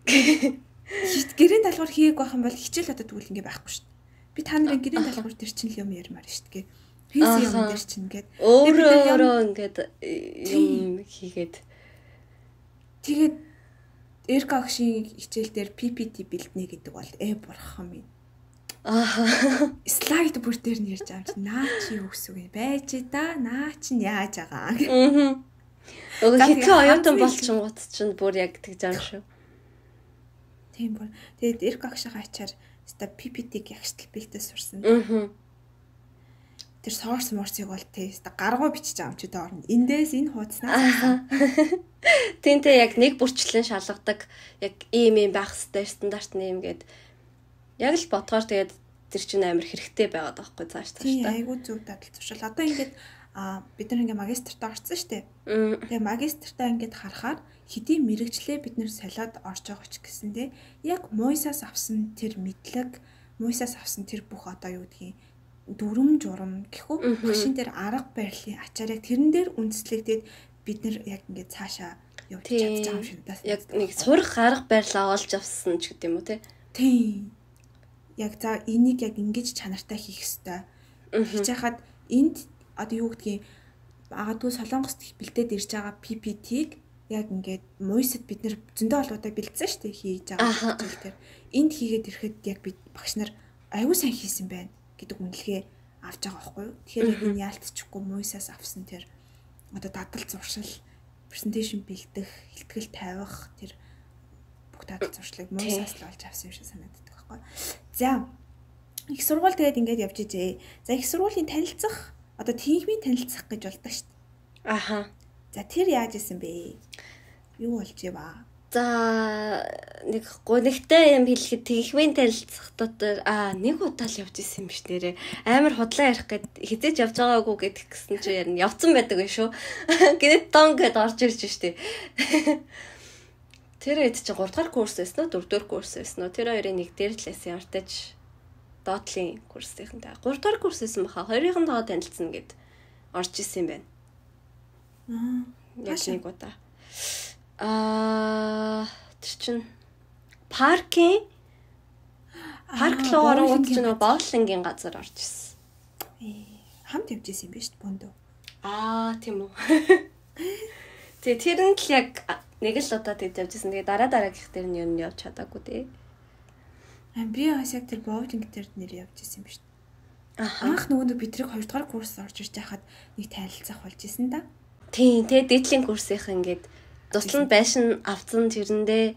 Гэрийн даалгавар хийгээг байх юм бол хичээл одоо тэгвэл ингээ байхгүй шүү дээ. Би та нарын гэрийн даалгавар дээр чинь л юм ярмаар шүү дээ. Хийсэн юм дээр чинь ингээд өөрөө ингээд юм хийгээд тэгээд Эрик агшин хичээл дээр PPT бэлднэ гэдэг бол бурхан минь. Слайд бүр дээр нь ярьж байгаа юм чи наа чи юу гэсэн үг байж да наа чи яаж байгаа. Хэцүү оюутан болчихгоот чинь бүр яг тэгж байгаа шүү. Тийм бүр. Тэгээд Эрик агшин хачаар ста PPT-г ягштал бэлдээ сурсан. Тэр source morse-ыг бол тест гаргуу бичиж байгаа юм чи доор нь. Эндээс энэ хуудаснаас. Тэнтэй яг нэг бүрчлэн шалгадаг яг ийм байх хэвээр стандарт нэм гээд яг л бодгоор тэгээд тэр чинь амар хэрэгтэй байгаад байгаа хгүй цааш тааш та. Тийм айгуу зөв дадал туршил. Одоо ингээд бид нар ингээ магистртаа орсон шүү дээ. Тэгээ магистртаа ингээд харахаар хэдийн мэрэгчлээ бид нэр солиод орж байгаа ч гэсэндээ яг муйсаас авсан тэр мэдлэг, муйсаас авсан тэр бүх одоо юу гэдгийг дүрм журам гэхүү машин дээр арга барилын ачаарыг тэрэн дээр үндэслэгдээд бид нар яг ингээд цаашаа явж чадж байгаа юм шиг даа. Яг нэг сурах арга барилаа олж авсан ч гэдэм үү те. Тийм. Яг за энийг яг ингэж чанартай хийх ёстой. Хийж хахад энд одоо юу гэдгийг магадгүй Солонгост бэлдээд ирж байгаа PPT-г яг ингээд муйсад бид нэр зөндөө олоодаа бэлдсэн шүү дээ хийж байгаа хичээл дээр. Энд хийгээд ирэхэд яг бид багш нар аюу сайн хийсэн байна гэдэг үнэлгээ авч байгаа байхгүй юу. Тэгэхээр яг энэ яалтчихгүй муйсаас авсан тэр одоо дадал зуршил, презентацийн бэлдэх, хэлтгэл тавих тэр бүх дадал зуршлыг муйсаас л олж авсан юм шиг санагддаг байхгүй юу. За их сургууль тэгээд ингээд явж ижээ. За их сургуулийн танилцах одоо тиймийн танилцах гэж болдог шүү дээ. Аха. За тэр яаж исэн бэ? Юу болж иваа? За нэг гонигтай юм хэлэхэд тийхмийн танилцах дотор нэг удаа л явж исэн юм биш нэрээ. Амар худлаа ярих гэд хизээж явж байгаагүй гэдэг гисэн чи ярина. Явцсан байдаг юм шүү. Гэнэт тон гэд орж ирж штэ. Тэр хэд чи 3 дахь курс байсан уу 4 дахь курс байсан уу? Тэр хоёрын нэг дээр л байсан артаж доотлын курсынхантай. 3 дахь курс байсан баха. Хоёрын доо танилцсан гэд орж исэн юм байна. Яг нэг удаа. Тэр чин парк руу орон ч нэг бооллингийн газар орж ирсэн. Хамт явж исэн юм биш үү Бондо? Тийм үү. Тэгээ тэр нь л яг нэг л удаа тэгж явж исэн. Тэгээ дараагийнх дээр нь юу нь явж чадаагүй дээ. Би бас яг тэр боулинг дээр нэр явж исэн юм биш үү? Анх нөгөө бидрийг 2 дугаар курс орж ирж байхад нэг танилцах болж исэн да. Тийм, тэгээ дээдлийн курсынх ингээд туслан байшин авцсан тэрэндээ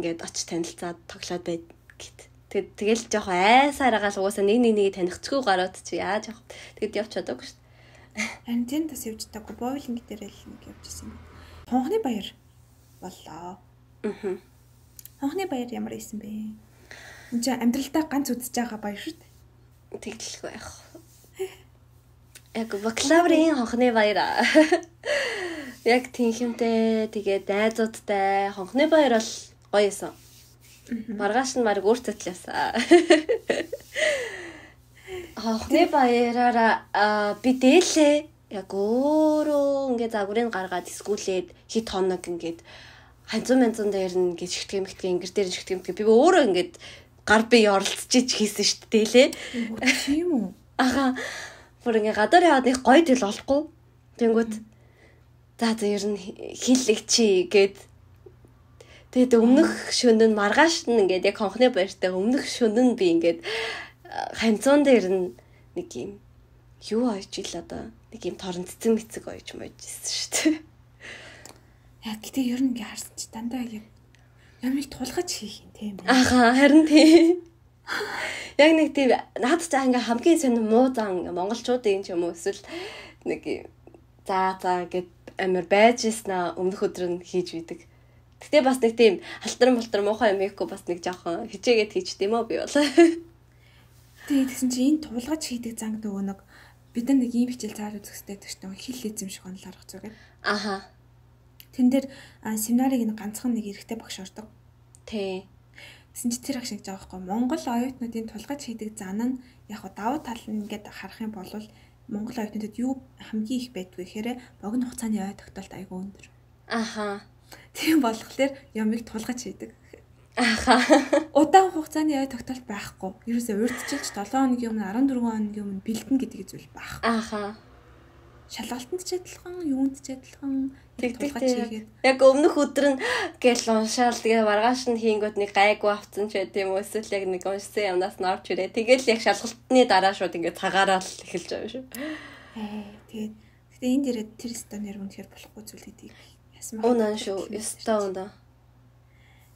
ингээд очиж танилцаад тоглоод байд гэт. Тэгэл жоох айсараагаа угаасаа нэг танихцгүй гараад чи яаж явах. Тэгэд явж чадаагүй шүү дээ. Харин тийм бас явж таагүй боулинг дээр л нэг явж исэн юм. Хонхны баяр боллоо. Хонхны баяр ямар исэн бэ? Энд чинь амьдралдаа ганц үзэж байгаа баяр шүү дээ. Тэглэхгүй байх. Яг бакалаврын хонхны баяр. Яг тийхэмтэй тэгээд найзуудтай хонхны баяр бол гоё эсэн. Маргааш нь баг өөртөө л ясаа. Хонхны баяраараа би дээлээ яг өөрөө ингээ загварыг гаргаад скүүлээд хит хоног ингээд ханцун дээр нь гэж шигтгэх ингэр дээр шигтгэх би өөрөө ингээд гар бие оролцож хийсэн шүү дээ лээ. Тийм үү? Бүр ингээ гадар яваад их гоё тэл олохгүй. Тэнгүүд за ер нь хиллэг чи гээд тэгээд өмнөх шөнө нь маргааш нь ингээд яг хонхны баяртай өмнөх шөнө нь би ингээд ханцун дээр нь нэг юм юу ойж ил одоо нэг юм торон цэцэн мэцэг ойж мойжсэн шүү дээ. Яг гэдэг ер нь ингээ харсан чи дандаа яг ямиг тулгаж хийх юм тийм. Харин тийм. Яг нэг тийм наад цаа ингээ хамгийн сонир муу зан монголчуудын ч юм уу эсвэл нэг за гэд амар байж яснаа өмнөх өдөр нь хийж бидэг. Гэтэ бас нэг тийм алтар муухай юм ийхгүй бас нэг жоохон хичээгээд хийчт юм уу би бол. Тэгсэн чи энэ тулгаж хийдэг занг нөгөө нэг бид нар нэг ийм хичээл цаар үзэхтэй гэж нэг хил эзэмших онол арга зүгээр. Тэн дээр семинарыг нэг ганцхан нэг эрэгтэй багш ордог. Тий. Гэсэн чи тэр ах шиг жаахгүй Монгол оюутнуудын тулгаж хийдэг зан нь яг давуу тал нь ингээд харах юм бол Монгол оюутнуудад юу хамгийн их байдгүй гэхээр богино хугацааны ой тогтоолт айгүй өндөр. Тийм болохоор ямиг тулгаж хийдэг. Удаан хугацааны ой тогтоолт байхгүй. Ерөөсөө урьдчилж 7 хоногийн өмнө 14 хоногийн өмнө бэлдэн гэдэг зүйл байхгүй. Шалгалтанд ч адилхан, юунд ч адилхан тулгаж хийгээд. Яг өмнөх өдөр нь гэл уншаал тэгээ маргааш нь хийнгөт нэг гайгүй авцсан ч байт юм уу эсвэл яг нэг уншсан юмнаас нь орж ирээ. Тэгэл яг шалгалтны дараа шууд ингээд цагаараа л эхэлж байгаа шүү. Тэгээд энэ дээрээ тэр стонер үнэхээр болохгүй зүйл гэдгийг ясмаа. Унаа шүү. Стон да.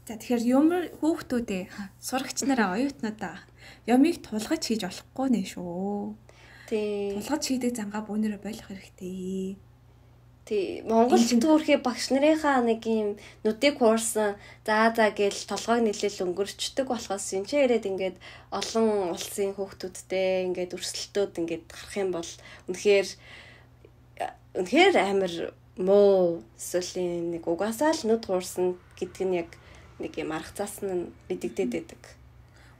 За тэгэхээр юм хүүхдүүдээ сурагч нараа оюутнуудаа ямиг тулгаж хийж болохгүй нэ шүү. Тулгаж хийдэг зангаа бүүнээрээ болох хэрэгтэй. Монгол түүхий багш нарынхаа нэг юм нүдийг хуурсан гээл толгойг нэлээл өнгөрчдөг болохоос энэ ч яриад ингээд олон улсын хүүхдүүдтэй ингээд өрсөлдөөд ингээд гарах юм бол үнэхээр амар муу эсвэл нэг угаасаа л нүд хуурсан гэдэг нь яг нэг юм арга заасан нь бидэгдээд байдаг.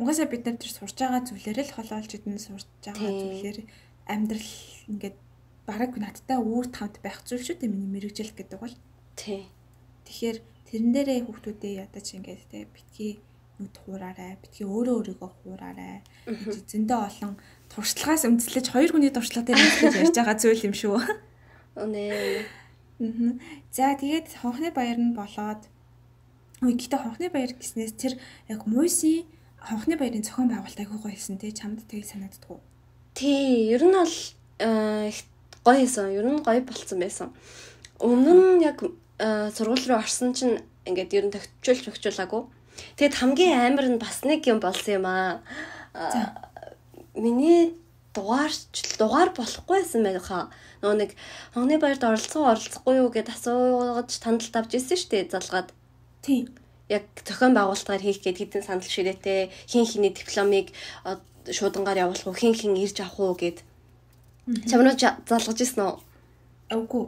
Угаасаа бид нар тэр сурж байгаа зүйлээр л холоолж идэн сурж байгаа зүйлээр амьдрал ингээд бараг надтай үүр тавд байх зүйл шүү дээ миний мэрэгжил гэдэг бол. Тэгэхээр тэрэн дээрээ хүүхдүүдээ ядаж ингээд те битгий нүд хуураарай, битгий өөрийгөө хуураарай. Зөндөө олон туршлагаас үндэслэж хоёр хүний туршлага дээр ярьж байгаа зүйл юм шүү. За тэгээд хонхны баяр нь болоод гэхдээ хонхны баяр гэснээс тэр яг муйсын хонхны баярын зохион байгуулалт айгүй гоё хэлсэн тий чамд тийг санагддгүй. Ер нь бол гоё хэлсэн. Ер нь гоё болцсон байсан. Өмнө нь яг сургууль руу орсон чинь ингээд ер нь тогтчуулаагүй. Тэгэд хамгийн амар нь бас нэг юм болсон юм аа. Миний дугаар болохгүй байсан байхаа. Нөгөө нэг хонхны баярт оролцохгүй юу гэд асууж тандалт авч ирсэн шүү дээ залгаад. Тийм. Яг зохион байгуулалтаар хийх гээд хэдэн санал ширээтэй хин хиний дипломыг шуудангаар явуулах уу хин ирж авах уу гэд. Чамруу залгаж ирсэн үү? Үгүй.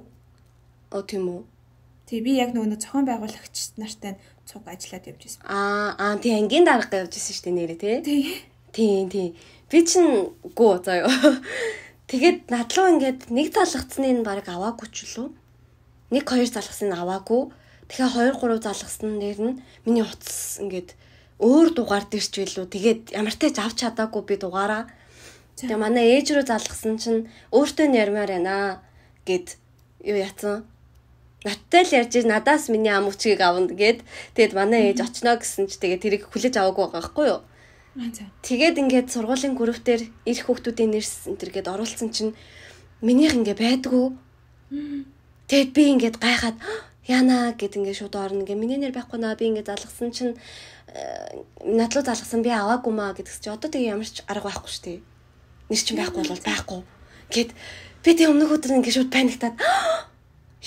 Тийм үү. Тэг би яг нөгөө зохион байгуулагч нартай цуг ажиллаад явж ирсэн. Тий ангийн дарга явж ирсэн шүү дээ нэрээ тий. Тийм. Би чинь гоо заяа. Тэгээд надлуу ингээд нэг залгацны нь баг аваагүй ч лөө. 1 2 залгасан нь аваагүй. Тэгэхээр 2 3 залгасан дээр нь миний утас ингээд өөр дугаар дэрч билүү. Тэгээд ямар ч тач авч чадаагүй би дугаараа. Тэгээ манай ээж рүү залгасан чинь өөртөө нь ярмаар байна гэд юу яцсан. Надтай л ярьж надаас миний ам өчгийг авна гэд. Тэгээд манай ээж очноо гэсэн чи тэгээд тэрийг хүлээж аваагүй байгаа байхгүй юу? Тэгээд ингээд сургуулийн группээр ирэх хүүхдүүдийн нэрс энэ төргээд оруулсан чинь минийх ингээ байдгүй. Тэгээд би ингээд гайхаад яана гэд ингээ шууд орно. Ингээ миний нэр байхгүй наа би ингээ залгасан чинь надлуу залгасан би аваагүй маа гэдгс чи одоо тэгээ ямар ч арга байхгүй шүү дээ. Нэр чинь байхгүй бол байхгүй. Гэт би тэг өмнөх өдөр ингээ шууд паниктаад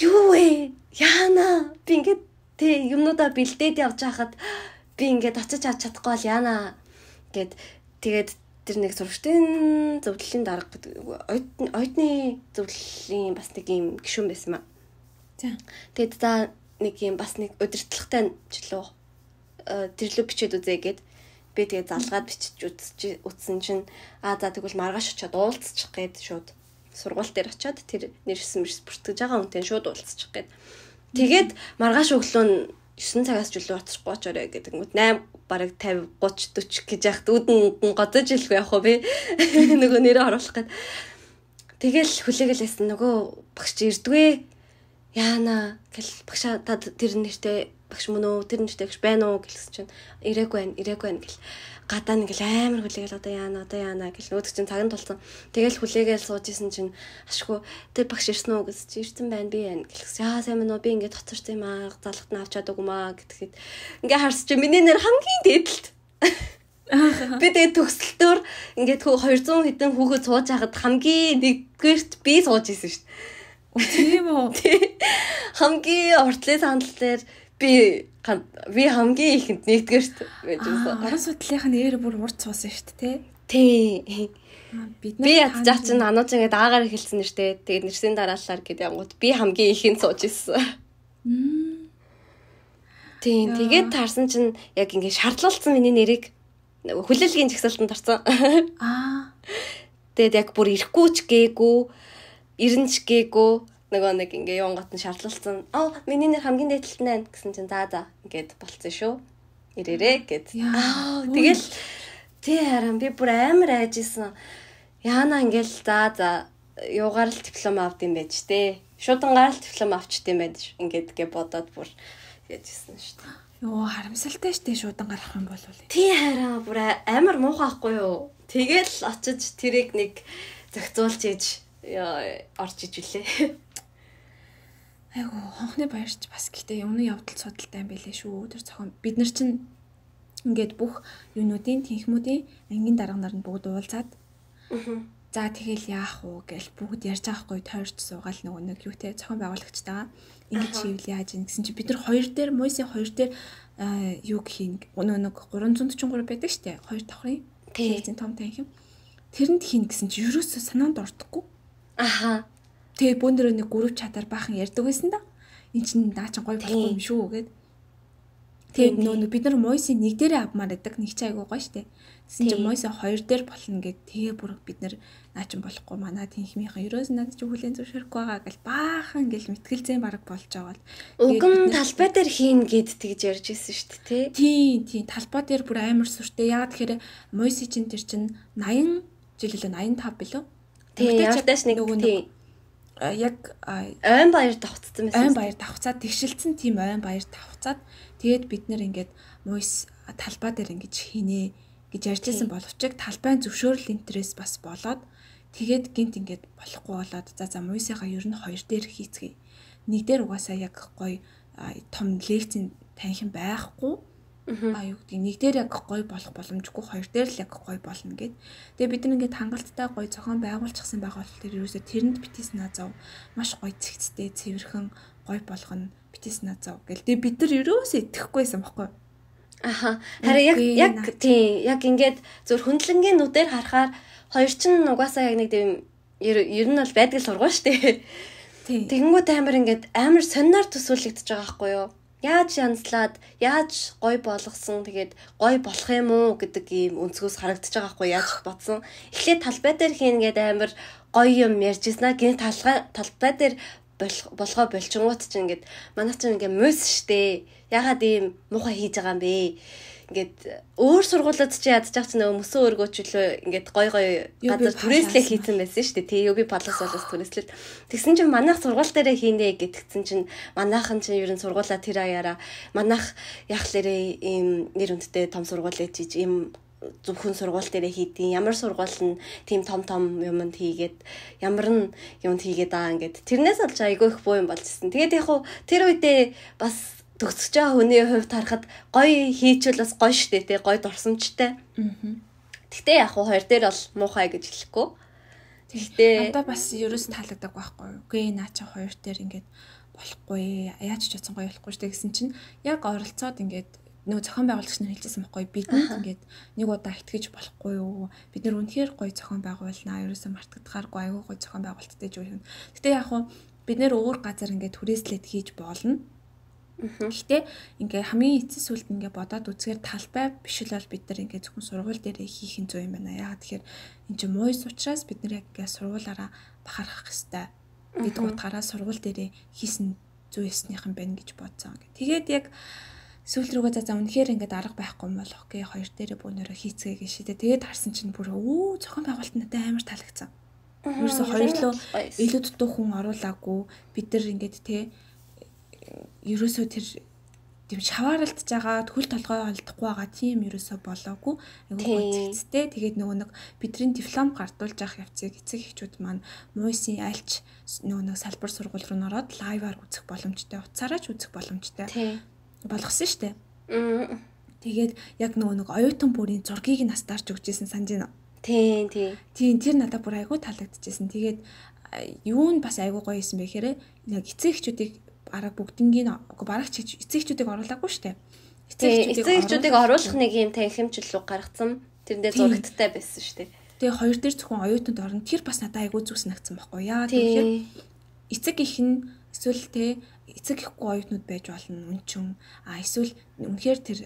юу вэ? Яана би ингээ тэг юмнуудаа бэлдээд явж байхад би ингээ очиж авч чадахгүй бол яана гэд тэгээд тэр нэг сурагчдын зөвлөлийн дарга гэдэг оюутны зөвлөлийн бас нэг юм гишүүн байсан маа. Тэгээд за нэг юм бас нэг удирдлагатай жилүү тэрлүү бичээд үзье гэд би тэгээд залгаад бичиж үзсэн чинь за тэгвэл маргааш очиод уулзчих гээд шууд сургууль дээр очиод тэр нэрсэн бүртгэж байгаа хүнтэй шууд уулзчих гээд тэгээд маргааш өглөө нь 9 цагаас жилүү очихгүй очоорой гэдэг юм. 8 бараг 50 30 40 гэж яхад үүдэн годож илгүй явах уу би нөгөө нэрээ оруулах гээд тэгэл хүлээгэлсэн нөгөө багш ирдвэ яана гэл багшаа та тэр нэртэй багш мөн үү тэр нэртэй багш байна уу гэлсэн чинь ирээгүй байна гэл гадаа нэг л амар хүлээгээл одоо яана гэл нөөдөг чинь цаганд тулсан. Тэгэл хүлээгээл сууж исэн чинь ашгүй тэр багш ирсэн үү гэсэн чинь ирсэн байна би байна гэлсэн. Яа сайн мөн үү би ингээд тоцорч юм аа залгат нь авч чадаагүй маа гэхэд ингээ харс чи миний нэр хамгийн дээдэлт. Би тэгээ төгсөлтөөр ингээд 200 хэдэн хүүхэд сууж хахад хамгийн нэгдүгээрт би сууж исэн шүү дээ. Тийм үү? Хамгийн уртлын сандал дээр би хамгийн ихэнд нэгдүгээрт байж байсан. Орон судлалынхаа нэр бүр урд суусан шүү дээ, тий. Би ядчаа чинь анууч ингээд аагаар эхэлсэн нэртэй. Тэгээд нэрсийн дараалалаар гэдэг ямгууд би хамгийн ихэнд сууж исэн. Тий, тэгээд таарсан чинь яг ингээд шаардлагалцсан миний нэрийг хүлээлгийн жагсаалтанд орсон. Тэгээд яг бүр ирэхгүй ч гээгүй, ирэнч гээгүй нөгөө нэг ингээ юунгат нь шаардлагалцсан. Миний нэр хамгийн дээдлэлт нь гэсэн чинь за ингээд болцсон шүү. Ирээрээ гэд. Тэгэл тий харин би бүр амар айжсэн. Яана ингээл за юугаар л диплом авд юм байж тээ. Шуудангаар л диплом авчт юм байж ингээд гэ бодоод бүр яжсэн шүү дээ. Йоо харамсалтай штэ шуудангаар авах юм бол. Тий харин бүр амар муухай ахгүй юу. Тэгэл очиж тэрийг нэг зохицуулж ийж орж иж үлээ. Айгу хонхны баярч бас гэхдээ өмнө явдал судалтай юм байлээ шүү. Тэр зохион бид нар чинь ингээд бүх юунуудын тэнхмүүдийн ангийн дарга нар нь бүгд уулзаад за тэгэл яах вэ гэж бүгд ярьж байгаа хгүй тойрч суугаал нөгөө нэг юутэй зохион байгуулагчтайгаа ингэж хийвэл яаж юм гэсэн чи бид нар хоёр дээр мойсын хоёр дээр юу хийн нөгөө нэг 343 байдаг штэ хоёр давхрын тийм том танхим тэрэнд хийн гэсэн чи ерөөсөө санаанд ордохгүй. Тэгээ бөөндрөө нэг гүрв чатаар баахан ярьдаг байсан да. Энд чинь наа чи гоё болохгүй юм шүү гэд. Тэгээ нөө бид нар мойсын нэг дээрээ авмаар байдаг. Нэг ч айгуу гоё штэ. Тэсэн чинь мойсын хоёр дээр болно гэд тэгээ бүр бид нар наа чи болохгүй манай тэнхмийнхэн ерөөс надад ч хүлэн зөвшөөрөхгүй байгаа гэл баахан гэл мэтгэлзэн бараг болж байгаа бол. Уган талбай дээр хийн гэд тэгж ярьж ирсэн штэ тий. Тийм талбай дээр бүр амар сүртэй. Яагаад тэгэхээр мойсын чинь тэр чинь 80 жил үлээ 85 билүү? Тийм явтааш нэг тийм яг ойн баяр давхцсан байсан. Ойн баяр давхцаад тэгшилсэн тийм ойн баяр давхцаад тэгээд бид нэр ингээд мойс талбай дээр ингэж хийнэ гэж ярьжсэн боловч талбайн зөвшөөрөл интерес бас болоод тэгээд гинт ингээд болохгүй болоод за мойсынхаа ер нь хоёр дээр хийцгээе. Нэг дээр угаасаа яг гоё том лекцийн танхим байхгүй. Юу гэдэг нэг дээр яг гоё болох боломжгүй хоёр дээр л яг гоё болно гэд. Тэгээ бид нар ингээд хангалттай гоё зохион байгуулчихсан байгаа бол тэр ерөөсө тэрэнд битээс наазав маш гоё цэгцтэй цэвэрхэн гоё болгоно битээс наазав гэл. Тэгээ бид нар ерөөсө итгэхгүйсэн баггүй. Харин яг тийм яг ингээд зөв хөндлөнгийн нүдээр харахаар хоёр чинь угаасаа яг нэг тийм ер нь бол байдаг сургууль штэ. Тэгэнгүүт амар сониноор төсөөлөгдөж байгаа байхгүй юу? Яаж янзлаад, яаж гой болгосон, тэгээд гой болох юм уу гэдэг ийм өнцгөөс харагдаж байгаа хгүй яаж бодсон. Эхлээд талбай дээр хийн гэдэг амар гоё юм ярьжсэн. Гэнэ талбай дээр болгоо болчингууд чинь ингээд манай чинь ингээд мөс штэ. Ягаад ийм муухай хийж байгаа юм бэ ингээд өөр сургуулиуд чи ядчих чинь нөгөө мөсөн өргөөчлөө ингээд гой газар түрээслээ хийсэн байсан шүү дээ. Тий UB Plus болоос түрээслэл. Тэгсэн чинь манайх сургууль дээрээ хийнэ гэтгцэн чинь манайхан чинь ер нь сургуулаа тэр аяараа манайх яг л ийм нэр хүндтэй том сургууль ээж ийм зөвхөн сургууль дээрээ хийдیں۔ Ямар сургууль нь тийм том юмд хийгээд ямар нь юмд хийгээд байгаа ингээд тэрнээс олж айгүй их буу юм болжсэн. Тэгээд яг хуу тэр үедээ бас төгсөж байгаа хүний хувьд харахад гоё хийчихвэл бас гоё штэ тий гоё дурсамжтай. Гэхдээ яг хуу хоёр дээр бол муухай гэж хэлэхгүй. Гэхдээ надад бас ерөөс таалагддаг байхгүй юу. Үгүй наача хоёр дээр ингээд болохгүй. Яаж ч чадсан гоё болохгүй штэ гэсэн чинь яг оролцоод ингээд нөгөө зохион байгуулагч нар хэлжсэн байхгүй бидэнд ингээд нэг удаа итгэж болохгүй юу. Бид нэр үнэхээр гоё зохион байгуулнаа. Ерөөсөө мартагдахааргүй аюу гоё зохион байгуулалттай жоо юм. Гэтэ яг хуу бид нэр өөр газар ингээд түрээслээд хийж болно. Гэхдээ ингээ хамгийн эцэс сүлд ингээ бодоод үзэхээр талбай биш л бол бид нар ингээ зөвхөн сургууль дээр хийх нь зүй юм байна. Яагаад тэгэхээр энэ чинь муйс учраас бид нар яг ингээ сургуулаараа бахархах хэвээр гэдэг утгаараа сургууль дээр хийсэн зүй ясных юм байна гэж бодсон. Тэгээд яг сүүл рүүгээ за үнэхээр ингээ арга байхгүй юм болох гээ хоёр дээрээ бөөнөрөө хийцгээе гэж шийдээ. Тэгээд харсан чинь бүр зохион байгуулалт надад амар таалагдсан. Ерөөсө хоёрлоо илүү дутуу хүн оруулаагүй бид нар ингээд ерөөсөө тэр тийм шавааралтж байгаа төл толгой олдохгүй байгаа тийм ерөөсөө болоогүй айгүй зэгцтэй. Тэгээд нөгөө нэг бидний диплом гардуулж авах явцыг эцэг эхчүүд маань муйсын альч нөгөө нэг салбар сургууль руу нороод лайваар үзэх боломжтой, утсаараа ч үзэх боломжтой болгосон шүү дээ. Тэгээд яг нөгөө нэг оюутан бүрийн зургийг нь настаарч өгчээсэн санаж байна. Тийм тэр надад бүр айгүй таалагдчихсэн. Тэгээд юу нь бас айгүй гоё юм бэ гэхээр яг эцэг эхчүүдийг арга бүгднийг барагч эцэгчүүдийг оруулаагүй штэ. Эцэгчүүдийг оруулах нэг юм танхимжил руу гаргацсан. Тэрнээ зурагттай байсан штэ. Тэгээ хоёр дээр зөвхөн оюутанд орно. Тэр бас надад айгүй зүг санагдсан байхгүй яа. Тэгэхээр эцэг их нь эсвэл эцэг ихгүй оюутнууд байж болно үнчин. Эсвэл үнэхээр тэр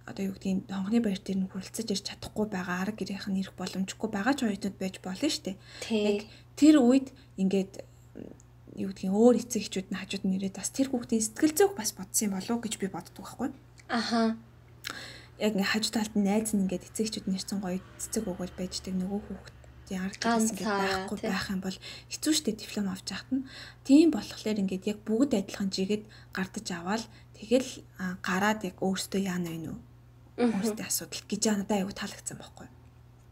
одоо юу гэдгийг хонгоны баяр дээр нь хүрэлцэж ирж чадахгүй байгаа арга гэрийнх нь ирэх боломжгүй байгаа ч оюутнууд байж болно штэ. Яг тэр үед ингээд юу гэдгийг өөр эцэг эхчүүд нь хажууд нь ирээд бас тэр хүүхдийн сэтгэл зүйг бас бодсон юм болов уу гэж би боддог байхгүй. Яг ингээ хажуу талд нь найз нь ингээд эцэг эхчүүд нэрсэн гоё цэцэг өгөөл байждаг нөгөө хүүхдийн арга талаас ингээд байхгүй байх юм бол хэцүү шттэ диплом авч яхад нь. Тийм болохоор ингээд яг бүгд адилхан жигэд гардаж аваад тэгэл гараад яг өөртөө яана вэ нүү. Өөртөө асуудал гэж надад аягүй таалагдсан байхгүй.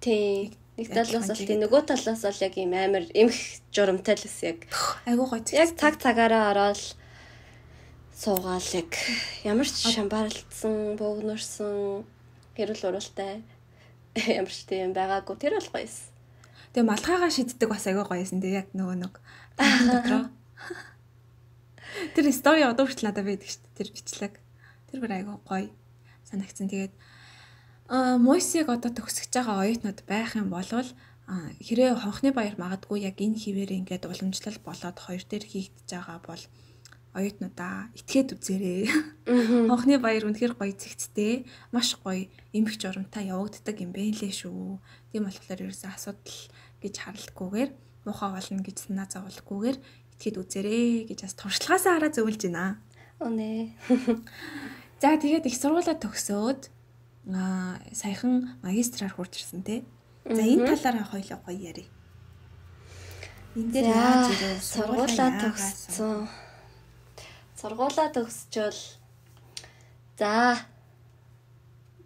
Тийм. Нэг талаас бол тийм нөгөө талаас бол яг юм амар эмх журамтай л ус яг айгуу гоё. Яг цагаараа ороод суугаал яг ямар ч шамбаралтсан, бөөгнөрсөн хэрүүл уралтай ямар ч тийм байгаагүй тэр бол гоёс. Тэгээ малгайгаа шиддэг бас айгуу гоёсэн. Тэгээ яг нөгөө нэг дотроо тэр стори одоо хүртэл надад байдаг шүү дээ. Тэр бичлэг. Тэр бүр айгуу гоё санагдсан. Тэгээд мойсыг одоо төгсөж байгаа оюутнууд байх юм бол хэрэг хонхны баяр магадгүй яг энэ хിവэр ингээд уламжлал болоод хоёр дээр хийгдэж байгаа бол оюутнуудаа итгээд үзээрэй. Хонхны баяр үнэхээр гоё зэгцтэй, маш гоё эмх журамтай явагддаг юм бэ лээ шүү. Тийм болохоор ерөөсөө асуудал гэж харалтгүйгээр муухай болно гэж санаа зовлохгүйгээр итгээд үзээрэй гэж бас туршлагаасаа хараа зөвлөж байна. Үнэ. За тэгээд их сургуулаа төгсөөд саяхан магистраар хурж ирсэн те. За энэ талаараа хоёлоо гоё ярий. Энд дээр яаж ирээ сургуулаа төгссөн. Сургуулаа төгсчөөл за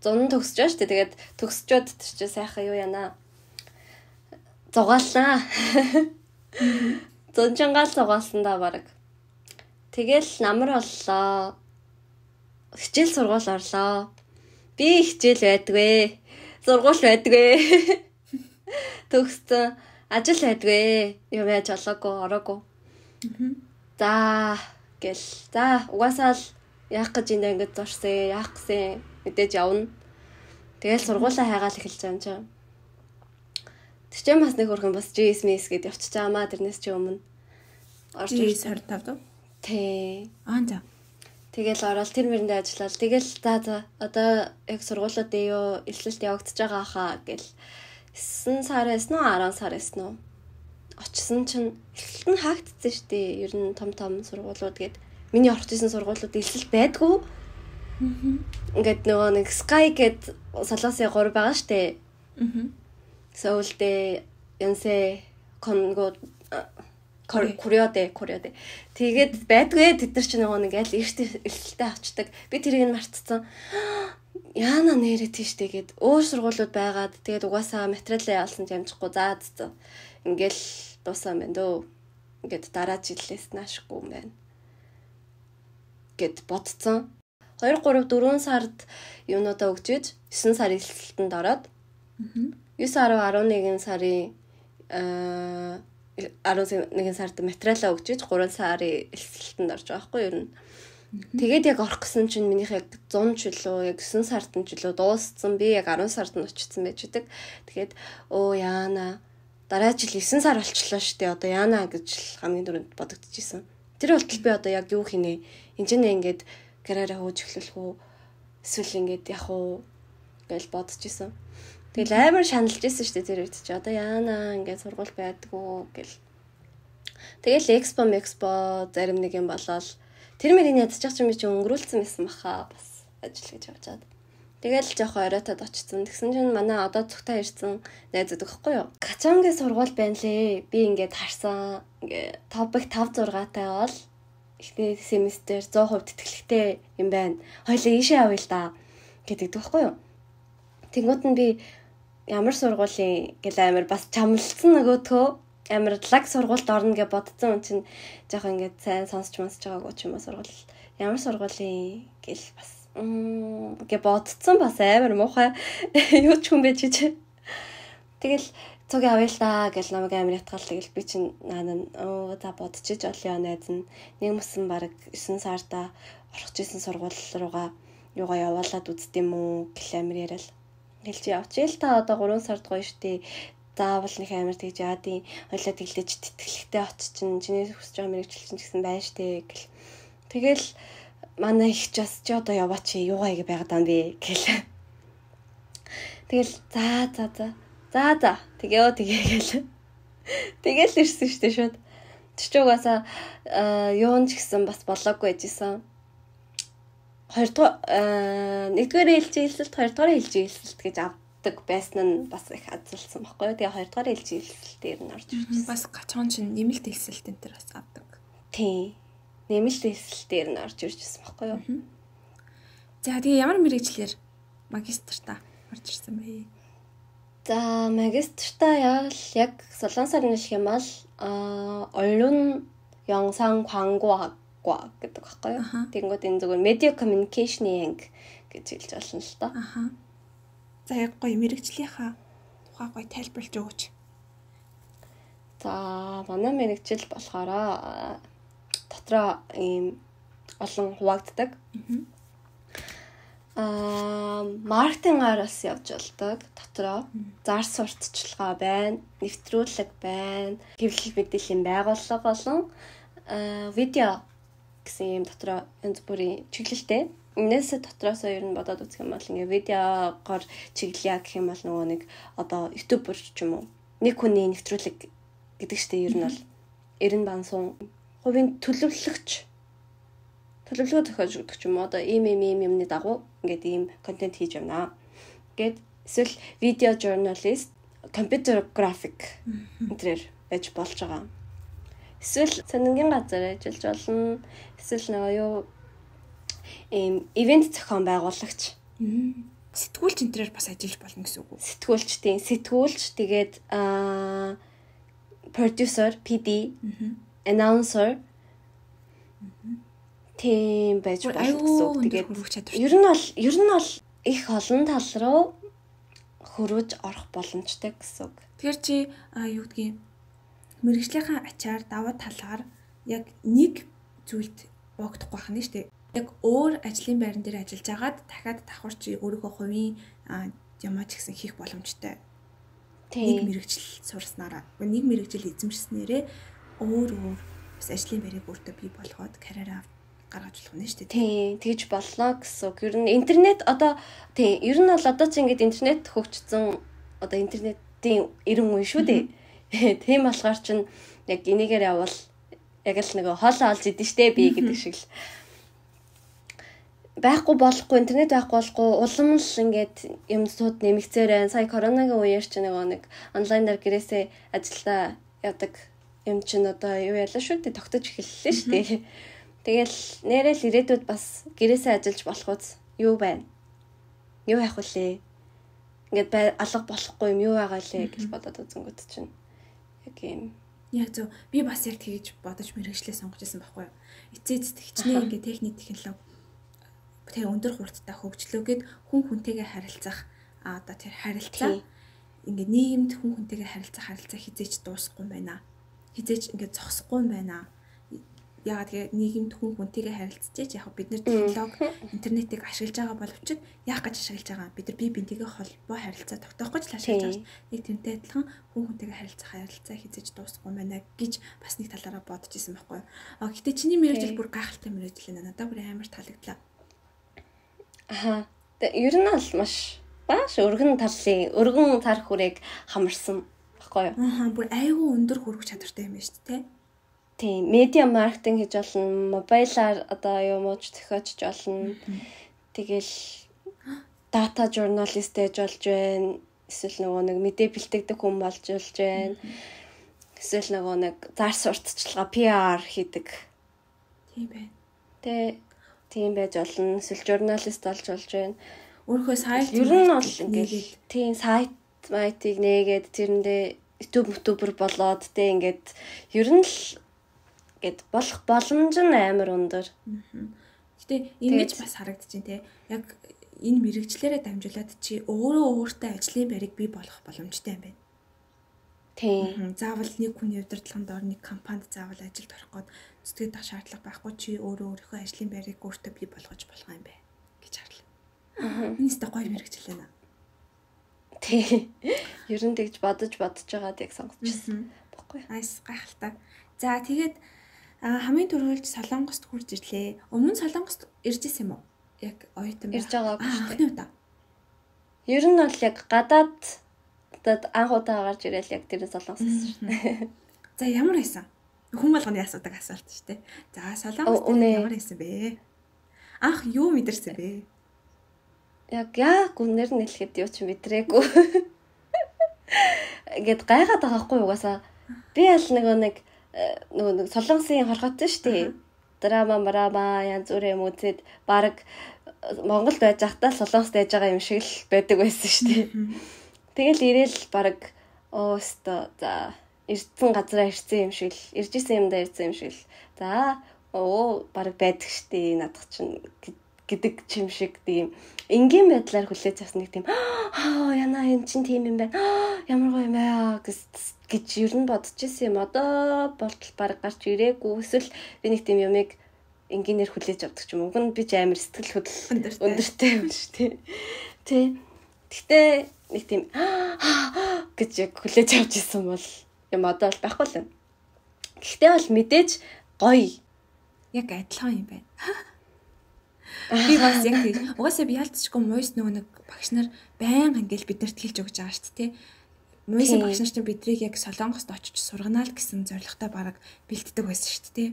зун төгсчөө штэ. Тэгээд төгсчөөд чи сайхан юу яана. Зугаалнаа. Зунжангаал зугаалсан да баг. Тэгэл намар боллоо. Хичээл сургууль орлоо. Би хичээл байдгүй. Сургууль байдгүй. Төгссөн. Ажил байдгүй. Юм яаж олоогүй, ороогүй. За гэл. За угаасаа л яах гэж ингэж зорсон, яах гэсэн мэдээж явна. Тэгэл сургуулаа хайгаал эхэлж байгаа юм чинь. Тэр чинь бас нэг хөрхөн бас GSMS гэдээ явчихж байгаа маа тэрнээс чи өмнө. Орж ирж 25 дөө. Тий. За. Тэгэл ороод тэр мэрэндээ ажиллаад тэгэл за одоо яг сургуулиудын юу элэлт явагдаж байгаа хаа гэл 9 сараас нь 10 сараас нь очсон чинь элэлт нь хаагдсан шүү дээ. Ер нь том сургуулиуд гээд миний орж исэн сургуулиуд элэлт байдгүй. Ингээд нөгөө нэг Sky гэд солонгосын 3 байгаа штэ. Сөүлдээ Янсэ Конго Кореоде. Тэгээд байдгүй тэд нар чинь нөгөө нэг аль эртэлтэй авчдаг. Би тэрийг нь мартцсан. Яана нэрээ тийштэй гээд өөр сургуулиуд байгаад тэгээд угаасаа материалаа ялсан ч амжихгүй заадсан. Ингээл дуусаа мэн дөө. Ингээд дараа жилээс наашгүй юм байна. Гэт бодцсон. 2 3 4 сард юунуудаа өгчөөж 9 сарын эхлэлтэнд ороод 9 10 11 сарын 11 сард материалаа өгчөөж 3 сарын эхлэлтэнд орж байгаа хгүй юу ер нь. Тэгээд яг орох гэсэн чинь минийх яг 100 жилөө яг 9 сард нь жилөө дууссан. Би яг 10 сард нь очсон байж байгаа. Тэгээд яана дараа жил 9 сар болчихлоо шүү дээ. Одоо яана гэж хамгийн түрүүнд бодогдчихсэн. Тэр болтол би одоо яг юу хийнэ? Энд ингээд карьераа хөөж эхлэх үү? Эсвэл ингээд явах уу гэж бодож исэн. Тэгэл амар шаналж исэн шүү дээ тэр үед чи. Одоо яана ингээд сургууль байдгүй гэл. Тэгэл экспо зарим нэг юм болоод тэр мөрийн ядчих чинь би чи өнгөрүүлсэн байсан баха бас ажил гэж явж чад. Тэгэл жоохон оройтод очсон. Тэгсэн чинь манай одоо цогтой ирсэн найзууд өгөхгүй юу? Качангийн сургууль байна лээ. Би ингээд харсан. Ингээ топик 5 6-тай бол ихний семестр 100% тэтгэлэгтэй юм байна. Хоёлаа ийшээ авъя л да гэдэг өгөхгүй юу? Тэнгууд нь би ямар сургуулийн гэл амар бас чамлсан нөгөөдхөө амар лаг сургуульд орно гэж бодсон юм чинь жоохон ингээд сайн сонсч байгаагүй ч юм уу сургууль ямар сургуулийн гэл бас гэж бодсон бас амар муухай юу ч хүн байж чиж. Тэгэл цог авъя л да гэж намайг амар ятгал тэгэл би чинь за бодчихж олё найз нь нэг мөсөн баг 9 сарда орох гэсэн сургууль руугаа юугаа явуулаад үзт юм уу гэл амар яриад хэлж явчихъя л та одоо 3 сард гоё штий заавал нэг амар тэгж яадын хойлоо тэглэж тэтгэлэгтэй оччин чиний хүсэж байгаа мэрэгчлэн гэсэн байна штэ гэл. Тэгэл манай их ч бас чи одоо яваач юугаа ингэ байгаад байгаа юм бэ гэл. Тэгэл за тэгээ тэгэл ирсэн штэ шууд. Тэр ч угаасаа юун ч гэсэн бас болоогүй байжсэн. 2 дугаар 1-р ээлжийлэлт 2 дугаар ээлжийлэлт гэж авдаг байсан нь бас их азалсан байхгүй юу. Тэгээ 2 дугаар ээлжийлэлтээр нь орж ирсэн. Бас гачхан чинь нэмэлт хэлсэлт энэ төр бас авдаг. Тий. Нэмэлт хэлсэлтээр нь орж ирсэн байхгүй юу. За тэгээ ямар мэрэгчлэр магистртаа орж ирсэн бэ? За магистртаа яг солонгосоор нэлэх юм бол 언론 영상 광고학과 гэдэг байхгүй юу. Тэнгүүд энэ зүгээр media communication гэж хэлж болно л доо. За яг гоё мэрэгчлийнхаа тухай гоё тайлбарлаж өгөөч. За манай мэрэгчл болохоор дотроо ийм олон хуваагддаг. Маркетингаар бас явж болдог. Дотроо зар сурталчилгаа байна, нэвтрүүлэг байна, хэвлэл мэдээллийн байгууллага болон видео гэсэн юм дотроо янз бүрийн чиглэлтэй. Энээс дотроос ер нь бодоод үзэх юм бол ингээ видеогоор чиглэе гэх юм бол нөгөө нэг одоо ютубер ч юм уу нэг хүний нэвтрүүлэг гэдэг чтэй ер нь бол 90 бансан хувийн төлөвлөгч төлөвлөгөө зохиож өгдөг ч юм уу одоо ийм юмны дагуу ингээд ийм контент хийж явнаа гэд эсвэл видео журналист компьютер график энтрээр байж болж байгаа. Эсвэл сонингийн газар ажиллаж болно. Эсвэл нөгөө юу ивент зохион байгуулагч. Сэтгүүлч энтрээр бас ажиллаж болно гэсэн үг үү? Сэтгүүлч тийм. Сэтгүүлч тэгээд producer, PD, announcer тийм байж болох гэсэн үг. Тэгээд ер нь бол их олон тал руу хөрвж орох боломжтой гэсэн үг. Тэгэхээр чи юу гэдгийг мэрэгжлийнхаа ачаар даваа талаар яг нэг зүйлд боогдохгүй байх нь шүү дээ. Яг өөр ажлын байран дээр ажиллаж агаад дахиад давхар чи өөрийнхөө хувийн ямаа ч гэсэн хийх боломжтой. Нэг мэрэгжил сурснараа, нэг мэрэгжил эзэмшснээрээ өөр бас ажлын байрыг өөртөө бий болгоод карьераа гаргаж болох нь шүү дээ. Тийм, тэгж боллоо гэсэн. Ер нь интернет одоо тийм, ер нь бол одоо ч ингэж интернет хөгжсөн одоо интернетийн 90 үе шүү дээ. Тийм болохоор чинь яг энийгээр явбал яг л нэг хоолоо олж идэн штэ би гэдэг шиг л. байхгүй болохгүй интернет байхгүй болохгүй улам л ингээд юм сууд нэмэгцээр байна. Сая коронагийн үеэр ч нэг онлайнаар гэрээсээ ажиллаа яадаг юм чинь одоо юу ялаа шүү дээ тогтож эхэллээ шүү дээ. Тэгэл нэрэл ирээдүйд бас гэрээсээ ажиллаж болох үз юу байна? Юу явах вүлээ? Ингээд алга болохгүй юм юу байгаа лээ гэж бодоод үзэнгүүт чинь яг юм. Яг зөв би бас яг тэгэж бодож мэрэгчлээ сонгож байсан байхгүй юу? Эцээц тэгчнээ ингээд техник технологи тэгээ өндөр хурдтай хөгжлөөгээд хүн хүнтэйгээ харилцах одоо тэр харилцаа ингээд нийгэмд хүн хүнтэйгээ харилцах хизээч дуусахгүй юм байна. Хизээч ингээд зогсохгүй юм байна. Яагаад тэгээ нийгэмд хүн хүнтэйгээ харилцаж яг бид нар технологи интернетийг ашиглаж байгаа боловч яах гэж ашиглаж байгаа бид нар бие биентэйгээ холбоо харилцаа тогтоох гэж ашиглаж байгаа. Нэг тэрнтэй адилхан хүн хүнтэйгээ харилцаа хизээж дуусахгүй юм байна гэж бас нэг талаараа бодож исэн байхгүй юу. Гэтэ чиний мэрэгжил бүр гайхалтай мэрэгжил байна. Надад бүр амар таалагдлаа. Ер нь бол маш өргөн цар хүрээг хамарсан баггүй юу? Бүр айгүй өндөр хүрэх чадвартай юм байна шүү дээ. Тийм, медиа маркетинг хийж болно, мобайлаар одоо юу мууч зохиож болно. Тэгэл дата журналист байж болж байна. Эсвэл нөгөө нэг мэдээ бэлтгэдэг хүн болж байна. Эсвэл нөгөө нэг зар сурталчилгаа PR хийдэг. Тийм байна. Тийм байж болно. Эсвэл журналист болж байна. Өөрийнхөө сайт ер нь бол ингээд тийм сайт майтыг нээгээд тэрэндээ YouTube болоод тэ ингээд ер нь л гэд болох боломж нь амар өндөр. Гэтэ ингэж бас харагдаж байна те. Яг энэ мэрэгчлэрээ дамжуулаад чи өөртөө ажлын байрыг бий болгох боломжтой юм байна. Тийм. Заавал нэг хүний удирдлагын доор нэг компанид заавал ажилд орох гээд зүтгэж тах шаардлага байхгүй чи өөрийнхөө ажлын байрыг өөртөө бий болгож болох юм байна гэж харлаа. Энэ өстой гоё мэрэгжил байна. Тийм. Ер нь тэгж бодож байгаад яг сонгочихсон. Баггүй. Айс гайхалтай. За тэгээд хамгийн түрүүлж Солонгост хурж ирлээ. Өмнө Солонгост ирж исэн юм уу? Яг оюутан ирж байгаагүй шүү дээ. Удаа. Ер нь бол яг гадаад анх удаа гарч ирэл яг тэр Солонгост ирсэн шүү дээ. За ямар байсан? Хүн болгоны асуудаг асуулт шүү дээ. За Солонгост ямар байсан бэ? Анх юу мэдэрсэн бэ? Яг гүнээр нь хэлэхэд юу ч мэдрээгүй. Ингээд гайхаад байгаа хгүй угаасаа. Би аль нэг Солонгосын хорхот шүү дээ. Драма янз бүр юм үзээд баг Монголд байж байхдаа Солонгост байж байгаа юм шиг л байдаг байсан шүү дээ. Тэгэл ирээл баг за ирсэн газараа ирсэн юм шиг л ирж исэн юмдаа ирсэн юм шиг л. За баг байдаг шүү дээ надад чинь гэдэг чим шиг тийм энгийн байдлаар хүлээж авсан нэг тийм яна энэ чинь тийм юм байна. Ямар гоё юм аа гэж ер нь бодож ирсэн юм. Одоо болтол баг гарч ирээгүй. Эсвэл би нэг тийм юмыг энгийнээр хүлээж авдаг ч юм. Уг нь би ч амар сэтгэл хөдлөл өндөртэй юм шүү дээ. Тэ. Гэхдээ нэг тийм гэж яг хүлээж авч ирсэн бол юм одоо бол байхгүй л байна. Гэхдээ бол мэдээж гоё. Яг адилхан юм байна. Би бас яг тийм. Угаасаа би ялцчихгүй муйс нэг багш нар байнга ингээл биднэрт хэлж өгч байгаа шүү дээ. Муйсын багш нар чинь бидрийг яг Солонгост очиж сургана л гэсэн зорилготой бараг бэлддэг байсан шүү дээ.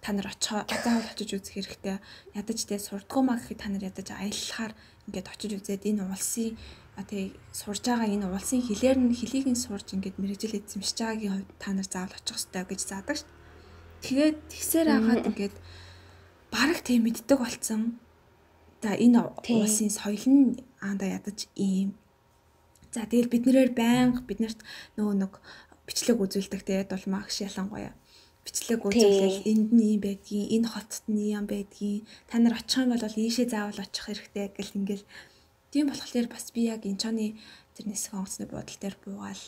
Та нар заавал очиж үзэх хэрэгтэй. Ядаж тий сурдгуу маа гэхэд та нар ядаж аяллахаар ингээд очиж үзээд энэ улсын тий сурж байгаа энэ улсын хэлийг нь сурж ингээд мэрэгжил эзэмшиж байгаагийн хувьд та нар заавал очих хэрэгтэй гэж заадаг шүү. Тэгээд тэгсээр хагаад ингээд бараг тийм мэддэг болсон. За энэ улсын соёл нь ядаж ийм. За тэгэл биднэрээр байнга биднэрт нэг бичлэг үзүүлдэг те дулмаагш ялангуяа бичлэг үзүүлэл энд нь юм байдгийн энэ хотод нь юм байдгийн та нар очих юм бол ийшээ заавал очих хэрэгтэй гэл ингээл тийм болохоор бас би яг энэ чоны тэр нисэх онгоцны бодол дээр буугаал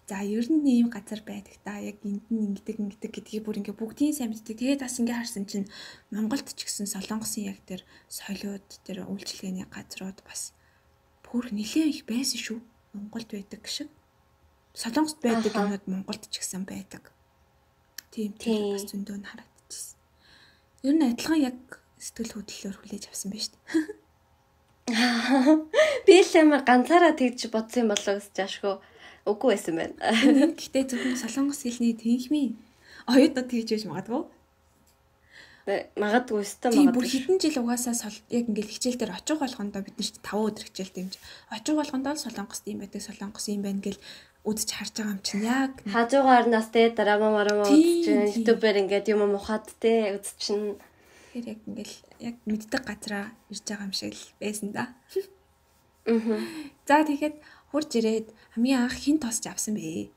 за ер нь ийм газар байдаг та яг энд нь ингэдэг гэдгийг бүр ингээ бүгдийн сайн мэддэг. Тэгээд бас ингээ харсан чинь Монголд ч гэсэн Солонгосын яг тэр соёлууд тэр үйлчилгээний газрууд бас бүр нэлээд их байсан шүү. Монголд байдаг шиг. Солонгост байдаг юмуд Монголд ч гэсэн байдаг. Тийм бас зөндөө нь харагдчихсэн. Ер нь адилхан яг сэтгэл хөдлөлөөр хүлээж авсан байж тээ. Би л амар ганцаараа тэгж бодсон юм болоо гэж яашгүй. Үгүй байсан байна. Гэхдээ зөвхөн Солонгос хэлний тэнхмийн оюутнууд тэгж байж магадгүй. Магадгүй өстө магадгүй. Бүр магадгүй. хэдэн жил угаасаа яг ингээл хичээл дээр очих болгондоо бид нар 5 өдөр хичээлтэй юм чи. Очих болгондоо л солонгост юм байдаг, солонгос юм байна гэл үзэж харж байгаа юм чинь яг хажуугаар нас те драма марама үзэж ютубер ингээд юм ухаад те үзчихнэ. Тэгэхээр яг ингээл яг мэддэг газараа ирж байгаа юм шиг л байсан да. За тэгэхэд хурж ирээд хамгийн анх хин тосч авсан бэ?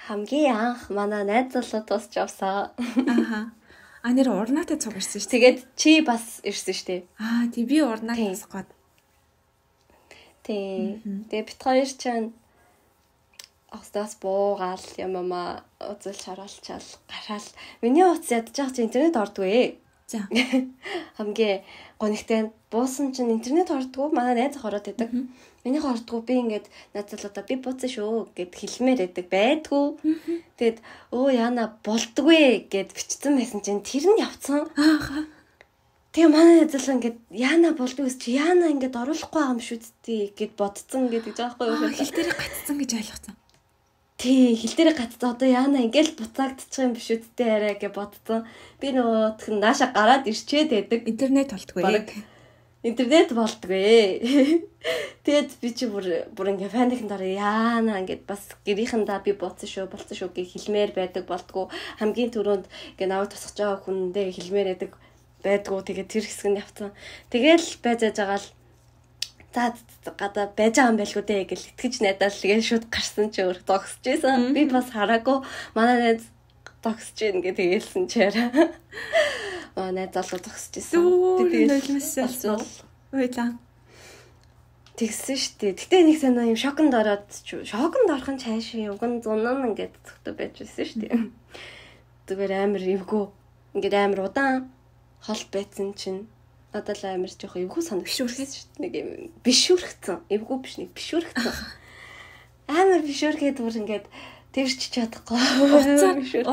Хамгийн анх манай найз залуу тосч авсан. Нэр урнаатай цуг ирсэн шүү. Тэгээд чи бас ирсэн шүү дээ. Тий би урнаа тосгоод. Тий. Тэгээд бит хоёр чинь Остас буугаал ямаа үзэл шаруулчаал гараал. Миний утас ядаж байгаа чи интернет ордгүй. За. Хамгийн гонигтай буусан чинь интернет ордгүй. Манай найз ороод идэг. Миний ордгүй би ингээд найзлуудаа би бууцсан шүү гэд хэлмээр идэг байдгүй. Тэгэд яана болдгүй гэд бичсэн байсан чинь тэр нь явцсан. Тэгээ манай найзлаа ингээд яана болдгүй чи яана ингээд оруулахгүй байгаа юм шүү дээ гэд бодцсон гэдэг жаахгүй юу. Хэл дээр гацсан гэж ойлгоцсон. Тий, хил дээр гацсан одоо яана ингээл буцаагдчих юм биш үсттэй арай гэж бодсон. Би нөгөө тхэн нааша гараад ирчээд байдаг. Интернет болтгүй. Интернет болтгүй. Тэгэд би чи бүр ингээ фаникын дараа яана ингээд бас гэрийнхэндээ би болцсон шүү гэж хэлмээр байдаг болтгүй. Хамгийн түрүүнд ингээ наваа тусгаж байгаа хүндээ хэлмээр байдгүй. Тэгээд тэр хэсэг нь явцсан. Тэгэл байж байгаал за гадаа байж байгаа юм байлгүй дээ гэж итгэж найдаад тэгээд шууд гарсан чи өөр зогсож байсан. Би бас хараагүй манай найз зогсож ийн гэ тэгэлсэн чаараа. Манай найз залуу зогсож байсан. Тэгээд нулимсэл уйлаа. Тэгсэн штий. Гэтэ нэг санаа юм шоконд ороод шоконд орхон цааш уган зунан ингээд зөвхөн байж байсан штий. Зүгээр амар эвгүй. Ингээд амар удаан хол байцсан чинь надад л амар жоох эвгүй санагдчихсэн шүү дээ. Нэг юм бишүүрхсэн. Эвгүй биш нэг бишүүрхсэн. Амар бишүүрхэд бүр ингээд тэрч чадахгүй.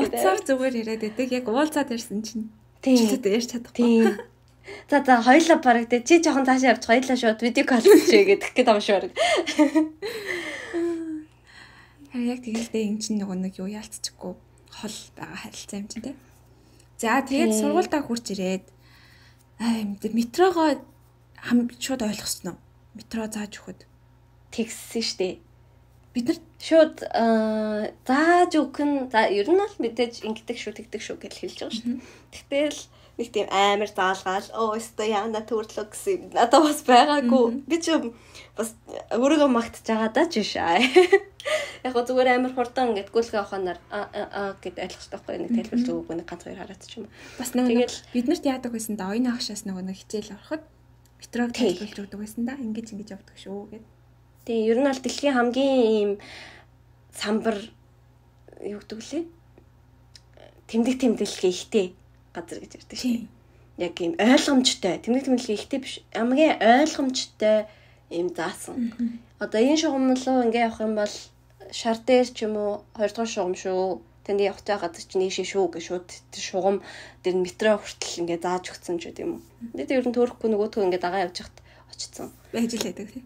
Уцаар зүгээр яриад байдаг. Яг уулзаад ирсэн чинь. Тийм. Ярьж чадахгүй. За хоёлаа бараг тий чи жоохон цаашаа явж хоёлаа шууд видео кол хийчихье гэдэг гээд байгаа шүү бараг. Харин яг тэгэлдээ эн чинь нэг юу яалтчихгүй хол байгаа харилцаа юм чинь тий. За тэгээд сургуультаа хурж ирээд метрогоо шууд ойлгосноо. Метро зааж өгөхөд тэгсэн штэ. Бид нар шууд зааж өгөх нь за ер нь бол мэдээж ингэдэг шүү тэгдэг шүү гэж хэлж байгаа шүү. Тэгтэл нэг тийм амар заалгаал өстө яана төрлөө гэсэн юм. Надад бас байгаагүй. Би ч бас өөрийгөө магтж байгаа даа ч шаа. Яг гоо зүгээр амар хурдан ингээд гүйлгээ аваханаар гэд ойлгох байхгүй нэг тайлбар зөвгүй нэг ганц хоёр хараад ч юм. Бас нэг бид нарт яадаг байсан да оюуны агшаас нэг хичээл ороход метрог тайлбарлаж өгдөг байсан да. Ингэж явдаг шүү гэд. Тэгээ ер нь бол дэлхийн хамгийн ийм самбар юу гэдэг лээ? Тэмдэглэгээ ихтэй газар гэж ярьдаг шээ. Яг ийм ойлгомжтой. Тэмдэглэгээ ихтэй биш. Хамгийн ойлгомжтой ийм заасан. Одоо энэ шугамлуу ингээ явах юм бол шар дээр ч юм уу 2 дугаар шугам шүү. Тэнд явах цаа газар чинь ийшээ шүү гэж шууд тэр шугам дээр метро хүртэл ингээ зааж өгсөн ч гэдэм юм. Тэгээд ер нь төөрөхгүй нөгөөтгөө ингээ дагаа явж хахад очсон. Байж л байдаг тийм.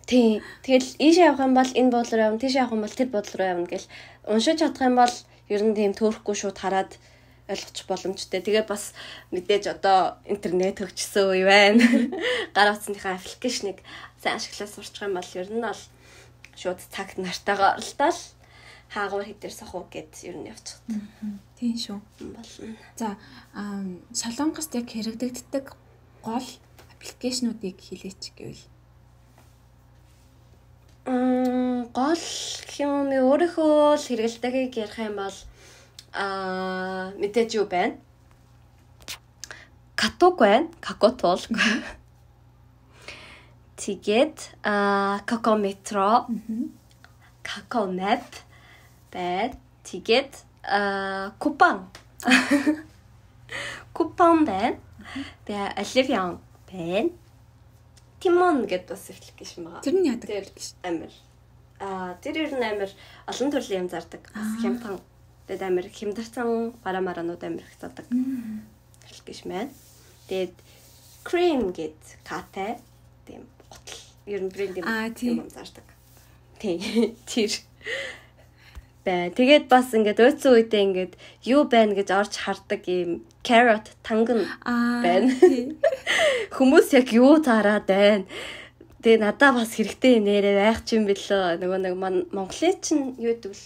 Тийм. Тэгэл ийшээ явах юм бол энэ боол руу явна, тийшээ явах юм бол тэр боол руу явна гэл уншиж чадах юм бол ер нь тийм төөрөхгүй шууд хараад ойлгочих боломжтой. Тэгээ бас мэдээж одоо интернет хөгжсөн үе байна. Гар утасныхаа аппликейшнийг сайн ашиглаж сурчих юм бол ер нь бол шууд цагт нартайгаа оролдоод хаагуур хідээр сохоо гэд ер нь явчих. Тийм шүү. Болно. За Солонгост яг хэрэгдэгддэг гол аппликейшнуудыг хэлээч гэвэл гол юм өөрийнхөө л хэрэгэлтэйг ярих юм бол мэдээж юу байна? Каток байна. Какотол. Тэгээд Какометро, Какомэп байна. Тэгээд купон. Купон байна. Тэгээд Оливиан байна. Тимон гэдэг бас аппликейшн байгаа. Тэр нь яадаг аппликейшн амар. Тэр ер нь амар олон төрлийн юм зардаг. Бас хямдхан. Тэгээд амар хямдарсан бараа-мараанууд амар их задаг. Аппликейшн байна. Тэгээд cream гэдэг катай тийм готл ер нь брэнд юм зардаг. Тийм. Тэр. бай. Тэгээд бас ингээд өөцөн үедээ ингээд юу байна гэж орж хардаг юм carrot танган байна. Хүмүүс яг юу таараад байна. Тэгээ надаа бас хэрэгтэй юм нэрээ байх ч юм бэлээ. Нөгөө нэг Монголын чинь юу гэдэг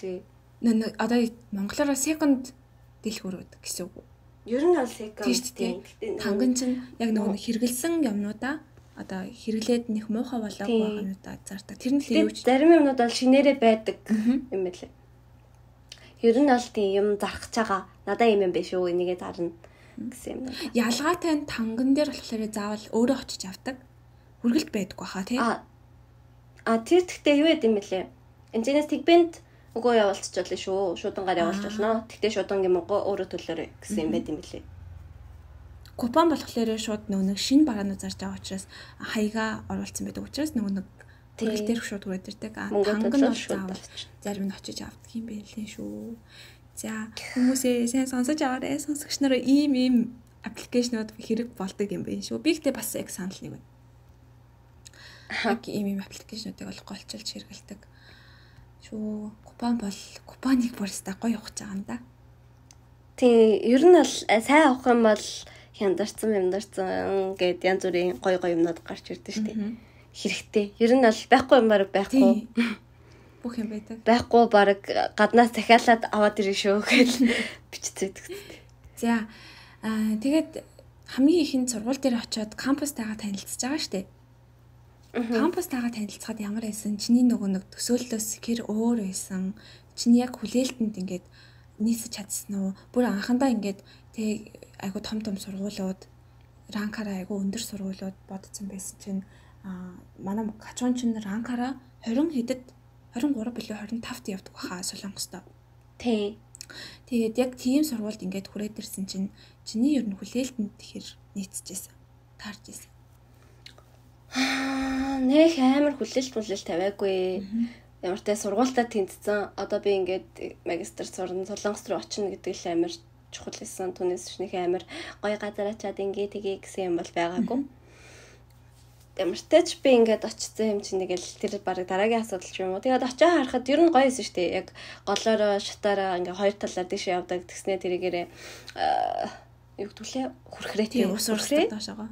лээ. Одоо монголоор second дэлгүүрүүд гэсэн үг. Ер нь бол second тийм. Танган чинь яг нөгөө хэрэгэлсэн юмнуудаа одоо хэрэглээд нэх муухай болоогүй байгаа юмудаа зардаг. Тэр нь л юу ч зарим юмнууд бол шинээрээ байдаг юм байлээ. Ер нь бол тийм юм зархаж байгаа. Надаа юм биш үү энийгээ зарна гэсэн юм. Ялгаатай танган дээр болохоор заавал өөрөө очиж авдаг. Хүргэлт байдаггүй хаа тий. Тэр тэгтээ юу яд юм бэлээ. Энэс тэгбэнд үгүй явуулчих жолоо шүү. Шуудангаар явуулчих болно. Тэгтээ шуудангийн мөнгө өөрөө төлөөрэй гэсэн юм байт юм бэлээ. Купон болохоор шууд нэг шинэ бараанууд зарж байгаа учраас хаяга оруулсан байдаг учраас нэг хүргэлт дээр шууд хүрээд ирдэг. Танган бол заавал зарим нь очиж авдаг юм байлээ шүү. За хүмүүсээ сайн сонсож аваарай. Сонсогч нараа ийм аппликейшнууд хэрэг болдог юм байна шүү. Би ихтэй бас яг санал нэг байна. Яг ийм аппликейшнуудыг бол голчилж хэрэгэлдэг. Шүү. Купон бол купоныг бүрстэ гоё явах гэж байгаа юм да. Тийм, ер нь бол сайн авах юм бол хяндарсан гэд янз бүрийн гоё юмнууд гарч ирдэ штэ. Хэрэгтэй. Ер нь бол байхгүй юм баг байхгүй. Бүх юм байдаг. Байхгүй баг гаднаас захиалаад аваад ирэх шүү гэж бичцээдэг. За тэгээд хамгийн ихэнд сургууль дээр очиод кампустайгаа танилцж байгаа штэ. Кампустайгаа танилцахад ямар байсан? Чиний нэг төсөөллөөс хэр өөр байсан? Чиний яг хүлээлтэнд ингээд нийцэж чадсан уу? Бүр анхандаа ингээд тэг айгу том сургуулиуд ранкаараа айгу өндөр сургуулиуд бодсон байсан чинь манай качуун чинь ранкаараа 20 хэдэд 23 билүү 25-т явдаг баха Солонгост. Тий. Тэгээд яг тийм сургуульд ингээд хүрээд ирсэн чинь чиний ер нь хүлээлтэнд тэгэхээр нийцэжсэн. Таарч ирсэн. Нэх амар хүлээлт тавиагүй. Ямар ч сургуультаа тэнцсэн. Одоо би ингээд магистр сурна Солонгос руу очино гэдэг л амар чухал байсан. Түүнээс ч нэг амар гоё газар очиад ингээ тгий гэсэн юм бол байгаагүй. Ямар ч тач би ингээд очсон юм чинь нэг л тэр баг дараагийн асуудал ч юм уу. Тэгээд очиж харахад ер нь гоё байсан шүү дээ. Яг голоороо шатаараа ингээ хоёр талаар дэше явдаг. Тэгснэ тэрийгээрээ юу гэдүүлээ хүрхрээ тийм ус урсдаг доошоо.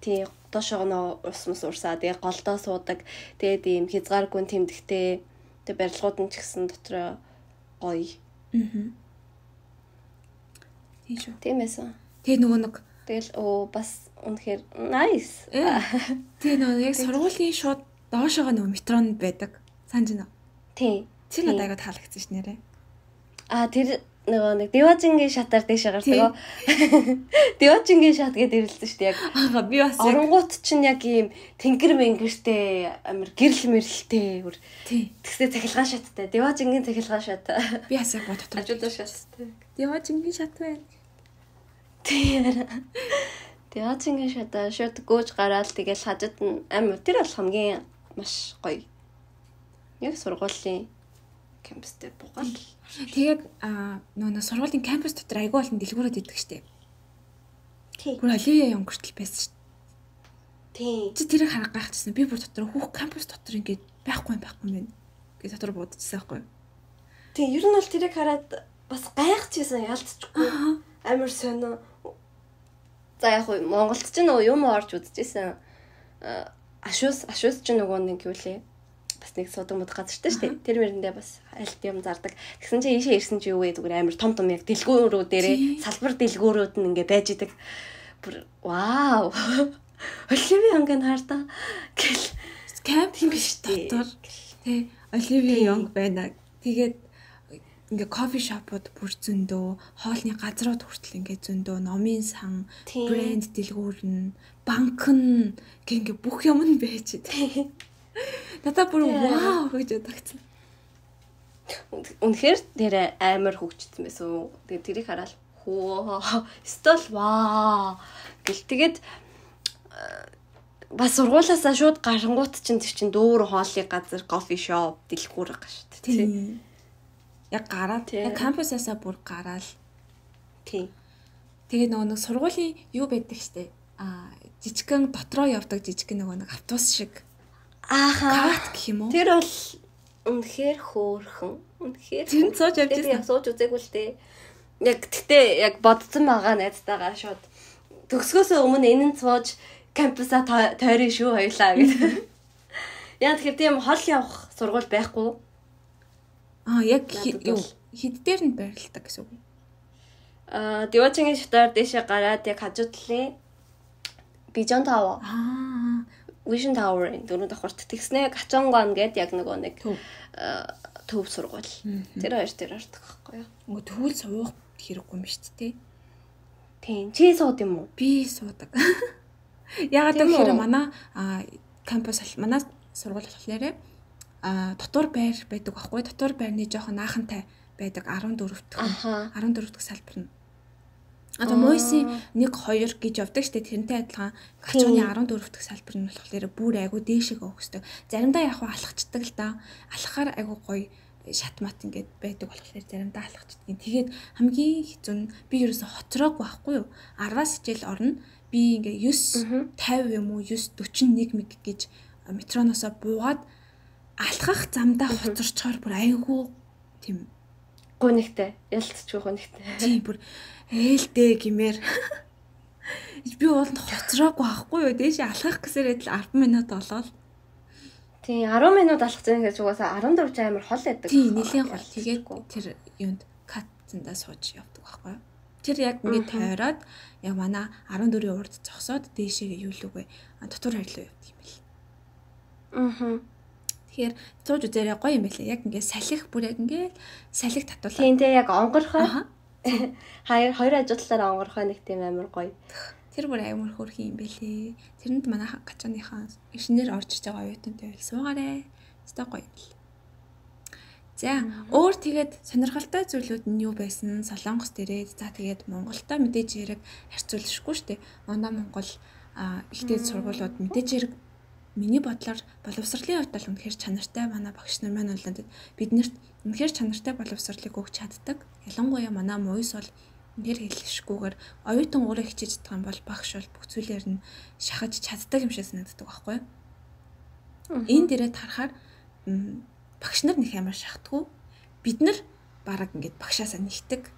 Тий доошоо нөө ус урсаа. Тэгээд голдоо суудаг. Тэгээд ийм хязгааргүй тэмдэгтэй. Тэгээд барилгууд нь ч гэсэн дотроо гоё. Тийм шүү. Тийм байсан. Тэгээ нөгөө нэг тэгэл бас үнэхээр nice. Тэгээ нөгөө яг сургуулийн шууд доошоо нөгөө метронд байдаг. Санаж байна уу? Тий. Тэр надад айгаа таалагдсан ш нэрээ. Тэр нөгөө нэг Деважингийн шатаар дэше гардаг. Деважингийн шат гэдээ ирэлсэн шүү дээ яг. Би бас оронгууд чинь яг ийм тэнгэр мэнгэртэй амар гэрэл мэрэлтэй. Тий. Тэгсээ цахилгаан шаттай. Деважингийн цахилгаан шат. Би бас яг дотор ажуулаа шаттай. Деважингийн шат байна. Тий. Деважингийн шатаа шууд гөөж гараад тэгэл хажууд нь амар тэр бол хамгийн маш гоё. Яг сургуулийн кампустэй бугаал. Тэгээд нөгөө сургуулийн кампус дотор айгүй болон дэлгүүрүүд идэг штеп. Тий. Бүр Оливия Янгөртөл байсан штеп. Тий. Чи тэрийг харах гайхчихсан. Би бүр дотор хүүх кампус дотор ингээд байхгүй юм гэж дотор бодчихсан байхгүй юу? Тий, ер нь бол тэрийг хараад бас гайхчихсан ялцчихгүй. Амар сонио. За яг хөө Монголд ч нөгөө юм орж үзчихсэн. Ашуус ч нөгөө нэг юу лээ. Бас нэг судаг мод газартай шүү дээ. Тэр мэрэндээ бас альт юм зардаг. Тэгсэн чинь ийшээ ирсэн чи юу вэ зүгээр амар том яг дэлгүүрүүд дээрээ салбар дэлгүүрүүд нь ингээ байж идэг. Бүр вау. Оливия Янг хартаа гэл камп юм биш дотор. Тэ Оливия Янг байна. Тэгээд ингээ кофе шопууд бүр зөндөө, хоолны газрууд хүртэл ингээ зөндөө, номын сан, брэнд дэлгүүр нь, банк нь ингээ бүх юм нь байж идэг. Надад бүр вау гэж бодогцсон. Үнэхээр тэр амар хөгжсөн байсан. Тэгээд тэрийг хараад хөө стол вау гэл тэгээд бас сургуулаасаа шууд гарангуут чинь тэр чинь дүүр хоолны газар кофе шоп дэлгүүр байгаа шүү дээ. Тийм. Яг гараад яг кампусаасаа бүр гараал. Тийм. Тэгээд нөгөө нэг сургуулийн юу байдаг штэ. Жижигхэн дотроо явдаг жижигхэн нөгөө нэг автобус шиг. Ааха. Кат гэх юм уу? Тэр бол Үнэхээр хөөрхөн. Үнэхээр. Тэр сууж явж байсан. Сууж үзээгүй л дээ. Яг тэгтээ яг бодсон байгаа найзтайгаа шууд төгсгөөсөө өмнө энэ нь сууж кампуса тойрын шүү хоёлаа гэдэг. Яа тэгэхээр тийм хол явах сургууль байхгүй. Яг юу хэд дээр нь байрладаг гэсэн үг. Дивочингийн шатаар дэшээ гараад яг хажуу талын Vision Tower. Vision Tower-ын дөрөв давхарт тэгснэ Гачонгон гэдэг яг нэг төв сургууль. Тэр хоёр дээр ордог байхгүй юу? Нөгөө төвөл суух хэрэггүй юм шүү дээ. Тийм. Чи сууд юм уу? Би суудаг. Ягаад гэвэл манай кампус манай сургууль болохоор дотор байр байдаг байхгүй. Дотор байрны жоохон наахантай байдаг 14 дахь салбар нь. Одоо Мойсын 1 2 гэж явдаг штэ тэрнтэй адилхан Гачууны 14 дахь салбар нь болохоор бүр айгу дээшээ өгсдөг. Заримдаа яг алхацдаг л да. Алхахаар айгу гоё шатмат ингээд байдаг болохоор заримдаа алхацдаг. Тэгээд хамгийн хэцүү нь би ерөөсө хоцроог байхгүй юу? 10-аас хичээл орно. Би ингээ 9 50 юм уу 9 41 мэг гэж метроноосоо буугаад алхах замдаа хоцорчоор бүр айгу тийм гонигтай ялцчих гонигтай. Тийм бүр ээлтэй гимээр би ууланд хоцроогүй байхгүй юу дээш алхах гэсээр л 10 минут болоод тийм 10 минут алхах зэн гэж угаасаа 14 амар хол байдаг. Тийм нэлийн хол тэгээд тэр юунд катцандаа сууж явдаг байхгүй юу. Тэр яг ингээд тойроод яг манай 14-ийн урд зогсоод дээшээ юу лүгэ дотор харилуу явдаг юм бэл. Тэгэхээр сууж үзээрэй гоё юм байлаа. Яг ингээд салхих бүр яг ингээд салхих татуулаа. Тийм те яг онгорхой. Хоёр ажууллаараа онгорхой нэг тийм амар гоё. Тэр бүр амар хөөрхөн юм байлээ. Тэрэнд манай Гачааныхаа инженер орж иж байгаа оюутантай байл суугаарэ. Өстой гоё юм бэл. За өөр тэгээд сонирхолтой зүйлүүд нь юу байсан? Солонгос дээрээ за тэгээд Монголтой мэдээж хэрэг харьцуулшгүй шүү дээ. Манай Монгол ихтэй сургуулиуд мэдээж хэрэг миний бодлоор боловсролын хувьд бол үнэхээр чанартай манай багш нар маань болоод биднэрт үнэхээр чанартай боловсролыг өгч чаддаг. Ялангуяа манай МУИС бол үнэхээр хэлэшгүйгээр оюутан өөрөө хичээж чадах юм бол багш бол бүх зүйлээр нь шахаж чаддаг юм шиг санагддаг байхгүй юу? Энэ дээрээ харахаар багш нар нэг амар шахдаггүй. Бид нар бараг ингээд багшаасаа нэгдэг.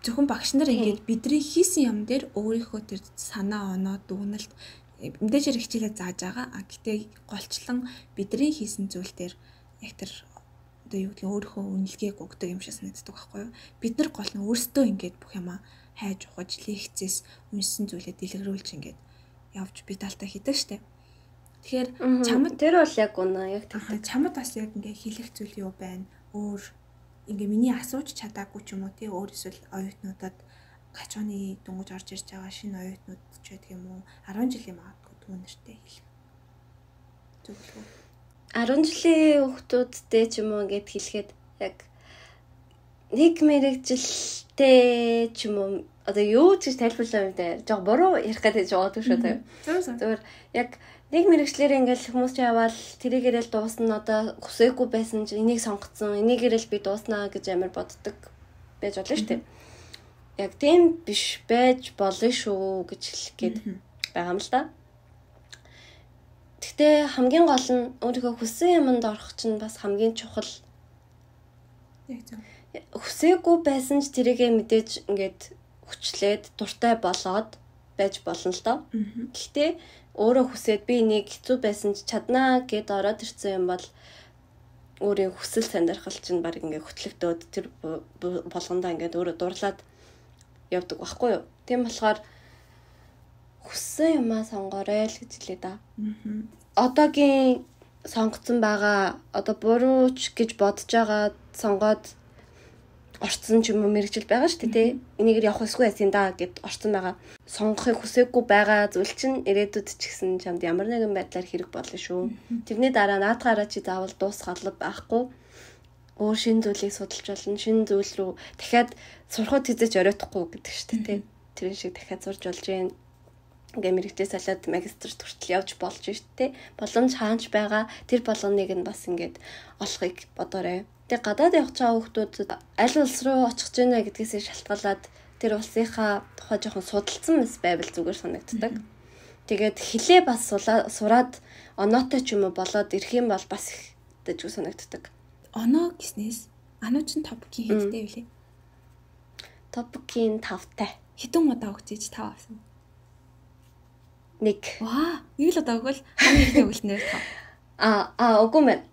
Зөвхөн багш нар ингээд бидний хийсэн юм дээр өөрийнхөө тэр санаа оноо дүгнэлт мэдээж хэрэг хичээлээ зааж байгаа. Гэтэ голчлон бидний хийсэн зүйл дээр яг тэр одоо юу гэдэг өөрийнхөө үнэлгээг өгдөг юм шиг санагддаг байхгүй юу? Бид нар гол нь өөрсдөө ингээд бүх юмаа хайж ухаж лекцээс үнсэн зүйлээ дэлгэрүүлж ингээд явж би талтай хийдэг штеп. Тэгэхээр чамд тэр бол яг үнэ яг тэр чамд бас яг ингээ хэлэх зүйл юу байна? Өөр ингээ миний асууж чадаагүй ч юм уу тий өөр эсвэл оюутнуудад Гачууны дөнгөж орж ирж байгаа шинэ оюутнууд ч байдаг юм уу? 10 жилийн магадгүй түүнэртэй хэлэх. Зөвлөгөө. 10 жилийн хүүхдүүдтэй ч юм уу ингээд хэлэхэд яг нэг мэрэгжилтэй ч юм уу одоо юу ч тайлбарлаа юм дээ. Жог буруу ярих гэдэг жоод шүү дээ. Зүгээр яг нэг мэрэгчлэр ингээл хүмүүс ч яваал тэрийгээрэл дуусна одоо хүсээгүй байсан ч энийг сонгоцсон энийгээрэл би дууснаа гэж амар боддог байж болно шүү дээ. Яг тийм биш байж болно шүү гэж хэлэх гээд байгаа юм л да. Гэхдээ хамгийн гол нь өөрийнхөө хүссэн юмд орох чинь бас хамгийн чухал. Яг зөв. Хүсээгүй байсан ч тэрийгээ мэдээж ингээд хүчлээд дуртай болоод байж болно л доо. Гэхдээ өөрөө хүсээд би энийг хэцүү байсан ч чаднаа гэд ороод ирсэн юм бол өөрийн хүсэл сонирхол чинь баг ингээд хөтлөгдөөд тэр болгондоо ингээд өөрөө дурлаад явдаг байхгүй юу. Тийм болохоор хүссэн юмаа сонгоорой л гэж хэлээ да. Одоогийн сонгоцсон байгаа одоо бурууч гэж бодож байгаа сонгоод орцсон ч юм уу мэрэгжил байгаа шүү дээ тий. Энийгээр явах эсгүй байсан да гэд орцсон байгаа. Сонгохыг хүсээгүй байгаа зүйл чинь ирээдүйд ч гэсэн чамд ямар нэгэн байдлаар хэрэг болно шүү. Тэрний дараа наадгаараа чи заавал дуусгалав байхгүй. Өөр шин зүйлийг судалж болно. Шин зүйл рүү дахиад сурахад хэзээ ч оройтхгүй гэдэг шүү дээ тий. Тэр шиг дахиад сурж болж гэн ингээ мэрэгчээ салаад магистрт хүртэл явж болж штэ. Боломж хаанч байгаа тэр болгоныг нь бас ингээд олохыг бодоорой. Тэгээ гадаад явж байгаа хүмүүс аль улс руу очих гэж байна гэдгээсээ шалтгаалаад тэр улсынхаа тухай жоохон судалсан мэс байвал зүгээр санагддаг. Тэгээд хилээ бас сураад оноотой ч юм уу болоод ирэх юм бол бас дэжгүй санагддаг. Оноо гэснээс ануу чин топикийн хэдтэй вэ? Топикийн 5-тай. Хэдэн удаа өгчээж 5 авсан? 1. Ваа, нэг л удаа өгвөл хамгийн ихний өгөлтнөр 5. Үгүй мэн.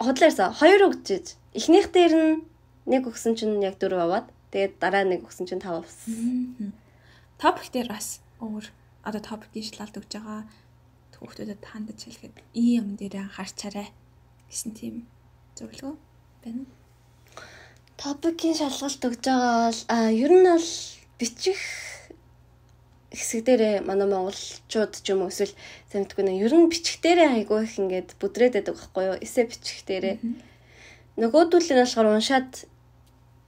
Хотлоорсоо 2 өгчээж. Эхнийх дээр нь 1 өгсөн чинь яг 4 аваад тэгээд дараа 1 өгсөн чинь 5 авсан. Топик дээр бас өөр одоо топикийн шалгалт өгж байгаа хүүхдүүдэд хандаж хэлэхэд ийм юм дээр анхаарчаарай гэсэн тийм зөвлөгөө байна. Топикийн шалгалт өгж байгаа бол ер нь бол бичих хэсэг дээрээ манай монголчууд ч юм уу эсвэл санагдгүй нэ ер нь бичих дээрээ айгүй их ингээд бүдрээд байдаг байхгүй юу? Эсэ бичих дээрээ. Нөгөөдүүл нь болохоор уншаад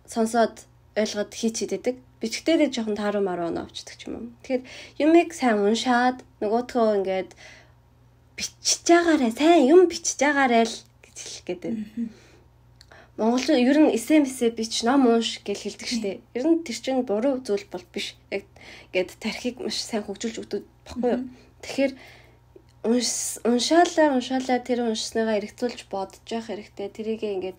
сонсоод ойлгоод хийчихэд бичих дээрээ жоохон тааруу маруу авчдаг ч юм уу. Тэгэхээр юмыг сайн уншаад нөгөөдхөө ингээд бичиж байгаарэ сайн юм бичиж байгаарэ л гэж хэлэх гээд байна. Монголчууд ер нь эсэмсээ бич ном унш гэж хэлдэг штеп. Ер нь тэр чинь буруу зүйл бол биш. Яг гээд тархийг маш сайн хөгжүүлж өгдөг баггүй юу. Тэгэхээр уншаалаа тэр уншсныгаа эргэцүүлж бодож явах хэрэгтэй. Тэрийг ингээд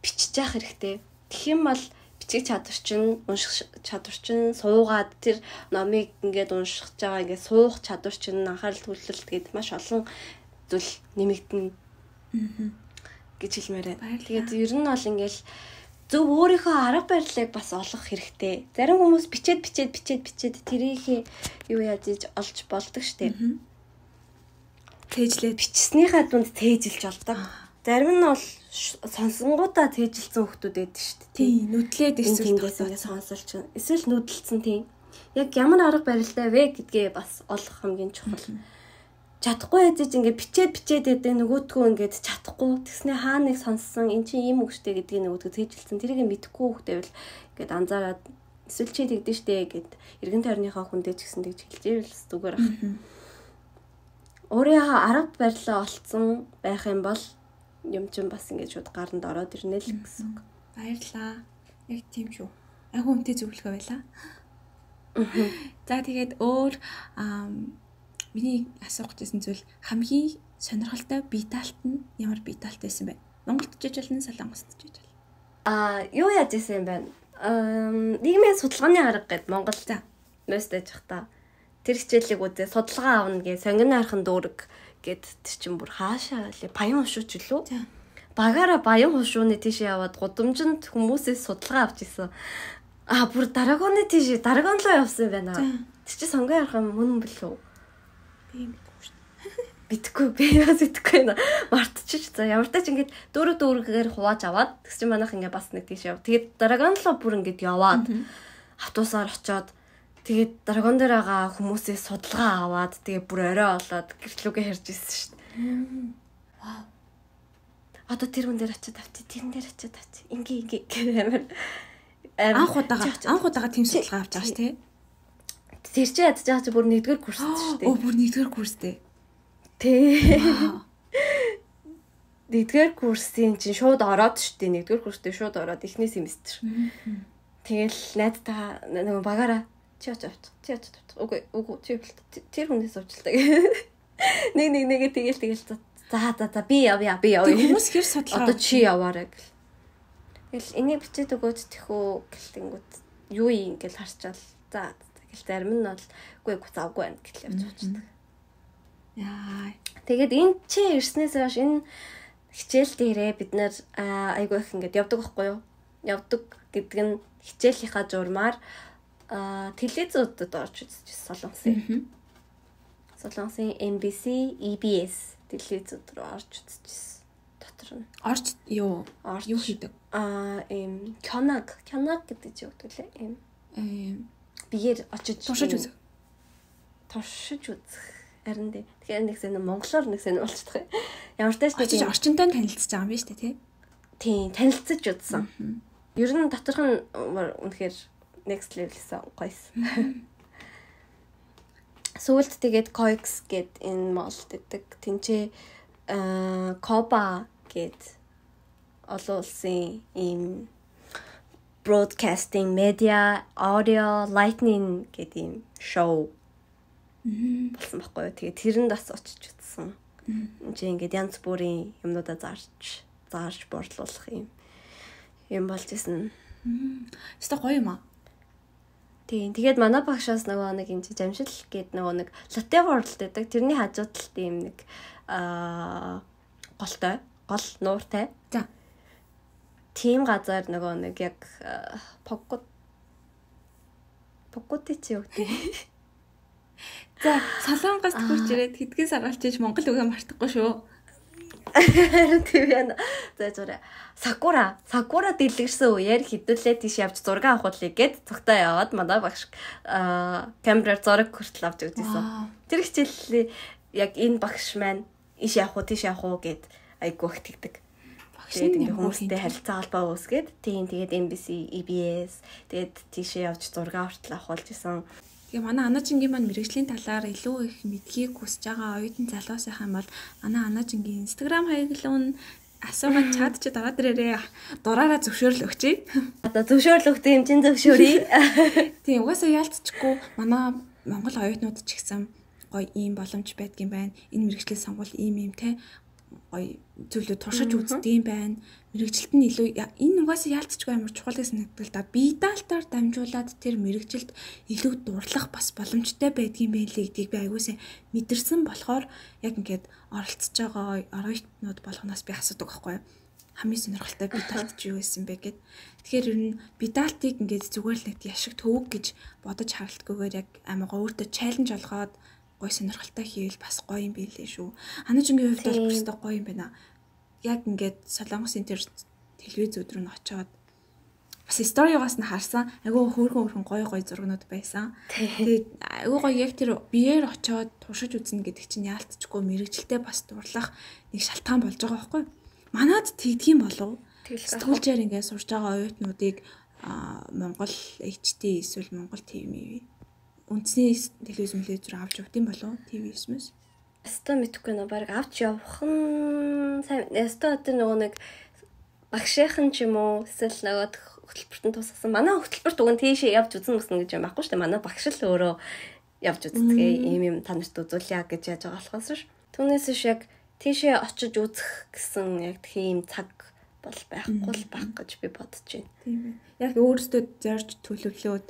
бичиж явах хэрэгтэй. Тэгэх юм бол бичих чадвар чинь унших чадвар чинь суугаад тэр номыг ингээд уншиж байгаа ингээд суух чадвар чинь анхаарал төвлөлт гээд маш олон зүйл нэмэгдэнэ. гэж хэлмээрээ. Тэгээд ер нь бол ингээл зөв өөрийнхөө арга барилыг бас олох хэрэгтэй. Зарим хүмүүс бичээд тэрийг юу яаж ийж олж болдог штеп. Тээжлээд бичснийхаа дунд тээжилж олдог. Зарим нь бол сонсонгуудаа тээжилсэн хүмүүс байдаг штеп. Тийм, нүдлээд эсвэл ингээд сонсолч. Эсвэл нүдэлсэн тийм. Яг ямар арга барилтай вэ гэдгээ бас олох хамгийн чухал. Чадахгүй ээжиж ингээд бичээд байдаг нөгөөтгөө ингээд чадахгүй тэгснэ хаа нэг сонссон эн чинь ийм үгштэй гэдгийг нөгөөтгөө тээжилсэн тэрийг мэдэхгүй хүүхдээ бол ингээд анзаараад эсвэл чи тэгдэж штэ гэд эргэн тойрныхаа хүндээ ч гэсэн тэгж хэлжээвэл зүгээр ах. Өөрийнхөө арга барилаа олцсон байх юм бол юм чинь бас ингээд шууд гаранд ороод ирнэ л гэсэн үг. Баярлаа. Яг тийм шүү. Айгу үнэтэй зөвлөгөө байлаа. За тэгээд өөр миний асуух гэсэн зүйл хамгийн сонирхолтой бие даалт нь ямар бие даалт байсан бэ? Монголд жиж болно, Солонгост жиж болно. Юу яаж исэн юм бэ? Нийгмийн судалгааны арга гэд Монгол мөст байж та. Тэр хичээлийг үзээ судалгаа авна гэ сонгины архан дүүрэг гэд тэр чин бүр хаашаа лээ баян хушууч лөө. Багаараа баян хушууны тийш яваад гудамжинд хүмүүсээс судалгаа авч исэн. Бүр дараагны тийш дарааганлоо явсан байна. Тэр чи сонгын архан мөн билүү? Битгэхгүй байна. Мартчих. За ямар ч ингэж дөрөөр хувааж аваад тэгс чи манайх ингээ бас нэг тийш яв. Тэгээд дарааганлоо бүр ингэж яваад автобусаар очоод тэгээд дарааган дээр байгаа хүмүүсээс судалгаа аваад тэгээд бүр орой олоод гэртлүүгээ хэрж ирсэн шүү дээ. Вау. Одоо тэр хүн дээр очиод авчи, тэрэн дээр очиод авчи. Ингээ гэмээр анх удаага тийм судалгаа авч байгаа ш тий. Тэр чи ядж байгаа чи бүр 1-р курс шүү дээ. Бүр 1-р курстэй. Тий. 1-р курсын чинь шууд ороод шүү дээ. 1-р курстэй шууд ороод эхний семестр. Тэгэл найдтайгаа нөгөө багаараа чи очиж авч. Үгүй чи тэр хүнээс уучлаа. Нэг тэгэл за би явъя. Хүмүүс хэр судлаа. Одоо чи яваарай гэл. Тэгэл энийг бичээд өгөөд тэхүү гэлтэнгүүт юу юм ингээл харчаал. За гэл зарим нь бол үгүй завгүй байна гэж явж уучдаг. Яа. Тэгээд энэ чи ирснээс хойш энэ хичээл дээрээ бид нэр айгүй их ингээд явдаг байхгүй юу? Явдаг гэдэг нь хичээлийнхаа журмаар телевизүүдэд орж үзчихсэн Солонгосын MBC, EBS телевизүүд рүү орж үзчихсэн. Дотор нь орж юу хийдэг? Кёнаг гэдэг чи өгдөг лээ. Бигээр очиж туршиж үзэх. Харин дээ. Тэгэхээр нэг сэн монголоор нэг сэн болчихдог. Ямар ч тааш очиж орчинтой танилцж байгаа юм биш үү тий? Тийм, танилцж үзсэн. Ер нь доторх нь үнэхээр next level-сэн гойсон. Сүүлд тэгээд Coix гэд энэ молд гэдэг тэнцээ Коба гэд олон улсын ийм broadcasting media audio lightning гэдэг ийм шоу болсон байхгүй юу. Тэгээд тэрэнд бас очиж үзсэн. Чи ингээд янз бүрийн юмнуудаа зарж борлуулах юм болж исэн. Өстой гоё юм аа. Тийм. Тэгээд манай багшаас нөгөө нэг энэ Жамшил гээд нөгөө нэг Latte World гэдэг. Тэрний хажууд талд юм нэг гол нууртай. За. Тийм газар нөгөө нэг яг Погготи чи юу гэдэг. За, Солонгост хурж ирээд хэдхэн сар болж иж Монгол үгээ мартахгүй шүү. Тийм яа. За зураа. Сакура дэлгэрсэн үеэр хідүүлээ тийш явж зураг авахулыг гээд цогтой яваад манай багш камераар зураг хүртэл авч үзсэн. Тэр хичээл яг энэ багш маань иш явах уу тийш явах уу гээд айгу ихтгэдэг. Тэгээд ингээ хүмүүстэй харилцаа холбоо үүсгээд тэгээд MBC, EBS тэгээд тийшээ явж зураг хүртэл авахулж исэн. Тэгээ манай Анажингийн маань мэрэгжлийн талаар илүү их мэдхийг хүсэж байгаа оюутан залуусынхан бол манай Анажингийн Instagram хаяглал асуугаад чад чи дараа дээрээ дураараа зөвшөөрөл өгчээ. Одоо зөвшөөрөл өгсөн юм чинь зөвшөөрье. Тийм угаасаа яалтчгүй манай Монгол оюутнууд ч гэсэн гоё ийм боломж байдгийн байна. Энэ мэрэгжлийн сонгуул ийм те гоё зүйлүүд туршиж үздэг юм байна. Мэргэжилт нь илүү энэ угаасаа яалтчгүй амар чухал гэсэн нэгдэл да. Бие даалтаар дамжуулаад тэр мэргэжилт илүү дурлах бас боломжтой байдгийн байлээ гэдгийг би аягуусаа мэдэрсэн болохоор яг ингээд оролцож байгаа оюутнууд болгоноос би асуудаг байхгүй юу. Хамгийн сонирхолтой бие даалт чи юу байсан бэ гэд. Тэгэхээр ер нь бие даалтыг ингээд зүгээр л нэг яшиг төвөг гэж бодож харалтгүйгээр яг амар өөртөө чаленж олгоод гоё сонирхолтой хийвэл бас гоё юм билээ шүү. Анажингийн хувьд бол өөртөө гоё юм байна. Яг ингээд Солонгосын тэр телевиз өдрөө нь очоод бас сториогоос нь харсан айгүй хөөрхөн гоё зургнууд байсан. Тэгээд айгүй гоё яг тэр биеэр очоод туршиж үзнэ гэдэг чинь яалтчгүй мэрэгжилтэй бас дурлах нэг шалтгаан болж байгаа байхгүй. Манад тэгдгийм болов. Сэтгүүлчээр ингээд сурж байгаа оюутнуудыг Монгол HT эсвэл Монгол TV үндэсний телевиз мөлөөр авч явдсан болов TV-с. Яста мэдхгүй нөө баг авч явах нь сайн. Яста одоо нөгөө нэг багшийнхан ч юм уу эсвэл нөгөө хөтөлбөртөнд тусгасан. Манай хөтөлбөрт уг нь тийшээ явж үзэн мөснө гэж юм байхгүй шүү дээ. Манай багш л өөрөө явж үздэг. Ийм та нарт үзүүлье гэж яаж байгаа болохоос ш. Түүнээс ш яг тийшээ очиж үзэх гэсэн яг тийм цаг бол байхгүй л байх гэж би бодож байна. Тийм ээ. Яг өөрөөсөө зорж төлөвлөөд.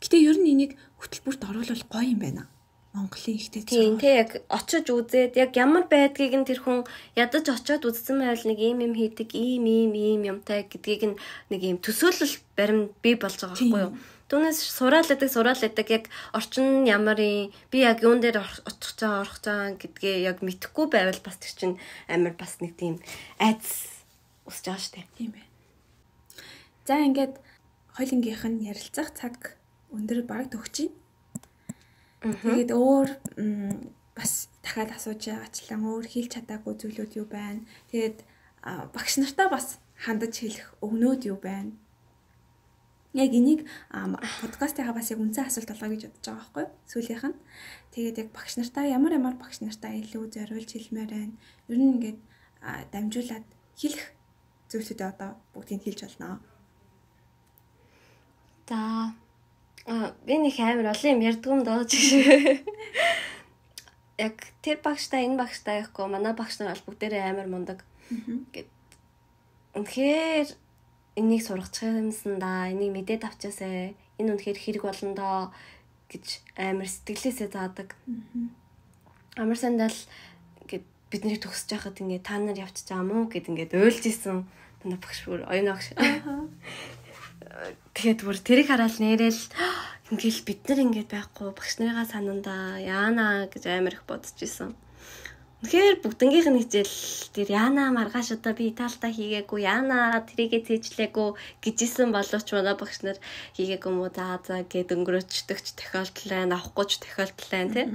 Гэтэ ер нь энийг хөтөлбөрт оруулах гоё юм байна. Монголын ихтэй тийм яг очиж үзээд яг ямар байдгийг нь тэр хүн ядаж очиод үзсэн байвал нэг ийм хийдэг ийм юмтай гэдгийг нэг ийм төсөөлөл баримт бий болж байгаа байхгүй юу. Түүнээс сураал байдаг яг орчин нь ямар юм би яг юун дээр орох цаа гэдгээ яг мэдэхгүй байвал бас тэр чинь амар бас нэг тийм айц усж байгаа штэ. Тийм ээ. За ингээд хоёлынгийнх нь ярилцах цаг өндөр баг төгчий. Тэгээд өөр бас дахиад асууж байгаачлан өөр хэлж чадаагүй зүйлүүд юу байна? Тэгээд багш нартаа бас хандаж хэлэх өгнөөд юу байна? Яг энийг подкастынхаа бас яг үнцэн асуулт болгоё гэж бодож байгаа байхгүй юу? Сүүлийнх нь. Тэгээд яг багш нартаа ямар багш нартаа илүү зориулж хэлмээр байна. Ер нь ингээд дамжуулаад хэлэх зүйлсүүдээ одоо бүгдийг хэлж болно. За би нэг амар олон юм ярьдгүй юм доо ч. Яг тэр багштай энэ багштай яахгүй манай багш нар бол бүгдээрээ амар мундаг. Гэт үнэхээр энийг сургачих юмсан да. Энийг мэдээд авчаасаа. Энэ үнэхээр хэрэг болно доо гэж амар сэтгэлээсээ заадаг. Амар сандал гэд бидний төгсөж байхад ингээ та нар явчих чаа мó гэд ингээ уйлж исэн манай багш бүр оюун багш. Тэгээд бүр тэрийг хараад нэрэл ингээл бид нар ингээд байхгүй багш нарыгаа санандаа яана гэж амар их бодож исэн. Тэгэхээр бүгднгийнх нь хичээл тэр яана маргааш одоо би Италитай хийгээгүй яана тэрийгээ цээжлээгүй гэжсэн боловч манай багш нар хийгээгүй мó за гэд өнгөрөөчдөгч тохиолдол байна авахгүйч тохиолдол байна тий.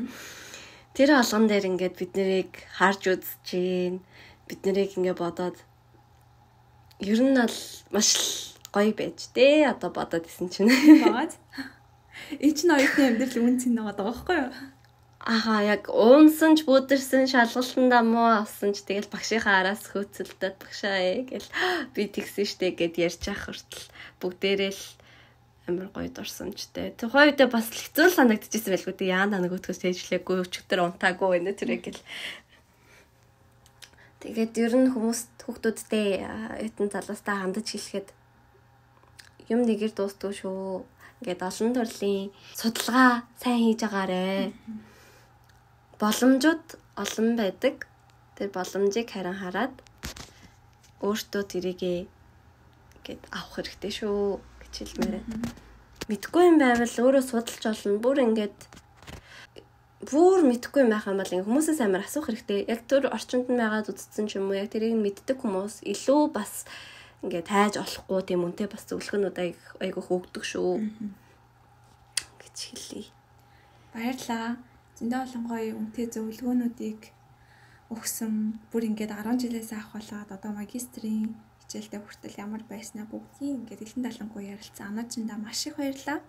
Тэр болгон дээр ингээд бид нарыг харж үзэж гин бид нарыг ингээд бодоод ер нь бол маш гоё байж дээ одоо бодоод исэн чинь баад энэ ч оюутны амьдрал үнцэн байгаа байхгүй юу? Аха яг уунсан ч бүдэрсэн шалгалтандаа муу авсан ч тэгэл багшийнхаа араас хөөцөлдөд багшаа гэл би тэгсэн штэ гэд ярьж ах хүртэл бүгдээрээ л амар гоё дурсамжтай. Тухайн үедээ бас хэцүү санагдчихсэн байлгүй дээ. Яана нөгөөдгөөс тэжлээгүй өчигдөр унтаагүй байна тэрэг гэл. Тэгээд ер нь хүүхдүүдтэй оюутан залуустай хандаж хэлэхэд юм нэгээр дуустгүй шүү. Ингээд олон төрлийн судалгаа сайн хийж агаарэ. Боломжууд олон байдаг. Тэр боломжийг харин хараад өөртөө тэрийг гээд авах хэрэгтэй шүү гэж хэлмээрээ. Мэдгүй юм байвал өөрөө судалж олно. Бүр мэдгүй юм байх юм бол хүмүүсээс амар асуух хэрэгтэй. Яг тэр орчинд нь байгаад үзсэн ч юм уу, яг тэрийг мэддэг хүмүүс илүү бас ингээд хайж олохгүй тийм үнтэй бас зөвлөгөөнүүд айгүйх өгдөг шүү гэж хэлье. Баярлалаа. Зөндөө олон гоё үнтэй зөвлөгөөнүүдийг өгсөн. Бүр ингээд 10 жилээс авахлаад одоо магистрийн хичээлдээ хүртэл ямар байснаа бүгдийг ингээд элэн далангуй ярилцсан. Ануучиндаа маш их баярлалаа.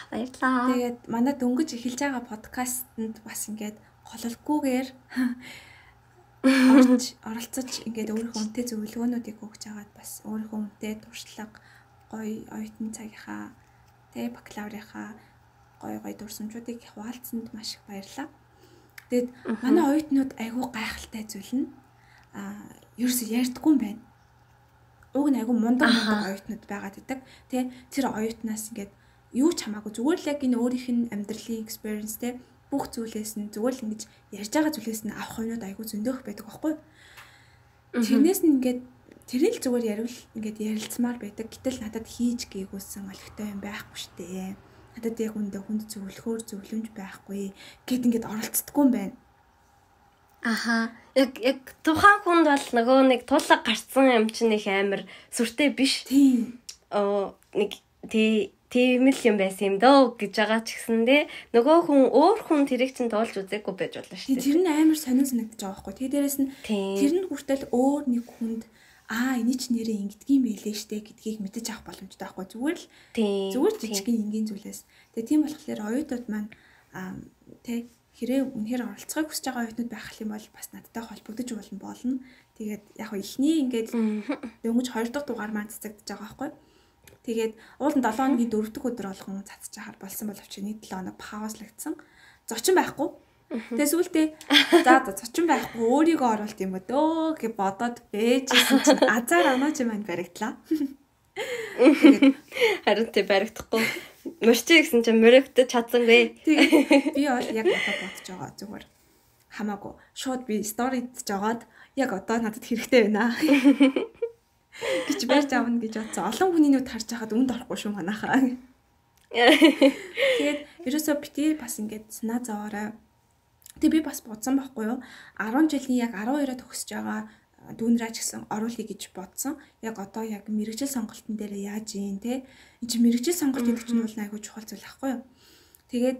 Баярлалаа. Тэгээд манай дөнгөж эхэлж байгаа подкастэнд бас ингээд гололгүйгээр оролцож ингээд өөрийнхөө үнтэй зөвлөгөөнүүдийг өгч байгаад бас өөрийнхөө үнтэй туршлага, гоё оюутны цагийнхаа бакалаврынхаа гоё дурсамжуудыг хуваалцсанд маш их баярлалаа. Тэгээд манай оюутнууд айгүй гайхалтай зүйл нь ерөөсөө ярьдаггүй юм байна. Уг нь айгүй мундаг оюутнууд байгаад идэг. Тэр оюутнаас ингээд юу ч хамаагүй зүгээр л яг энэ өөрийнх нь амьдралын experience-тэй бүх зүйлээс нь зүгээр л ингэж ярьж байгаа зүйлээс нь авах юмуд айгүй зөндөөх байдаг байхгүй. Тэрнээс нь ингээд тэрийг л зүгээр ярил ингээд ярилцмаар байдаг. Гэтэл надад хийж гээгүүлсэн олигтой юм байхгүй штэ. Надад яг үндэ хүнд зөвлөхөөр зөвлөмж байхгүй гэд ингээд оролцдоггүй юм байна. Аха. Яг тухайн хүнд бол нөгөө нэг тулаг гарцсан юм чинь их амар сүртэй биш. Тийм. Нэг тийм л юм байсан юм дөө гэж байгаа ч гэсэндээ нөгөө хүн өөр хүн тэрийг чинь тоолж үзээгүй байж болно шүү дээ. Тэр нь амар сонин санагдаж байгаа байхгүй. Тэгээ дээрэс нь тэр нь хүртэл өөр нэг хүнд эний ч нэрээ ингэдгийм байлээ штэ гэдгийг мэдэж авах боломжтой байхгүй. Зүгээр жижигхэн энгийн зүйлээс. Тэгээ тийм болохоор оюутнууд маань хэрэг үнэхээр оролцохыг хүсэж байгаа оюутнууд байх юм бол бас надтай холбогдож болно. Тэгээд яг ихний ингээд дөнгөж 2 дахь дугаар маань цацагдж байгаа байхгүй. Тэгээд уулын 7 хоногийн 4 дахь өдөр болгон цацж ахаар болсон боловч нэг 7 хоног паузлагдсан. Зочин байхгүй. Тэгээ сүүлдээ зочин байхгүй өөрийгөө оруулт юм өдөө гэж бодоод бэжсэн чинь азар онооч маань баригдлаа. Харин тэ баригдахгүй. Мөрчи гэсэн чинь мөрөгдөж чадсангүй. Тэгээд би бол яг одоо бодож байгаа зүгээр. Хамаагүй. Шууд би сторид жагаад яг одоо надад хэрэгтэй байна. Гэж барьж авна гэж бодсон. Олон хүний нүд харж байхад үнд орохгүй шүү манайхаа. Тэгээд ерөөсөө бити бас ингээд санаа зовоорой. Тэгээд би бас бодсон байхгүй юу? 10 жилийн яг 12-оо төгсөж байгаа дүүнраа ч гэсэн оруулъя гэж бодсон. Яг одоо яг мэрэгжил сонголтын дээр яаж юм те? Энд чинь мэрэгжил сонголт гэдэг чинь бол айгүй чухал зүйл байхгүй юу? Тэгээд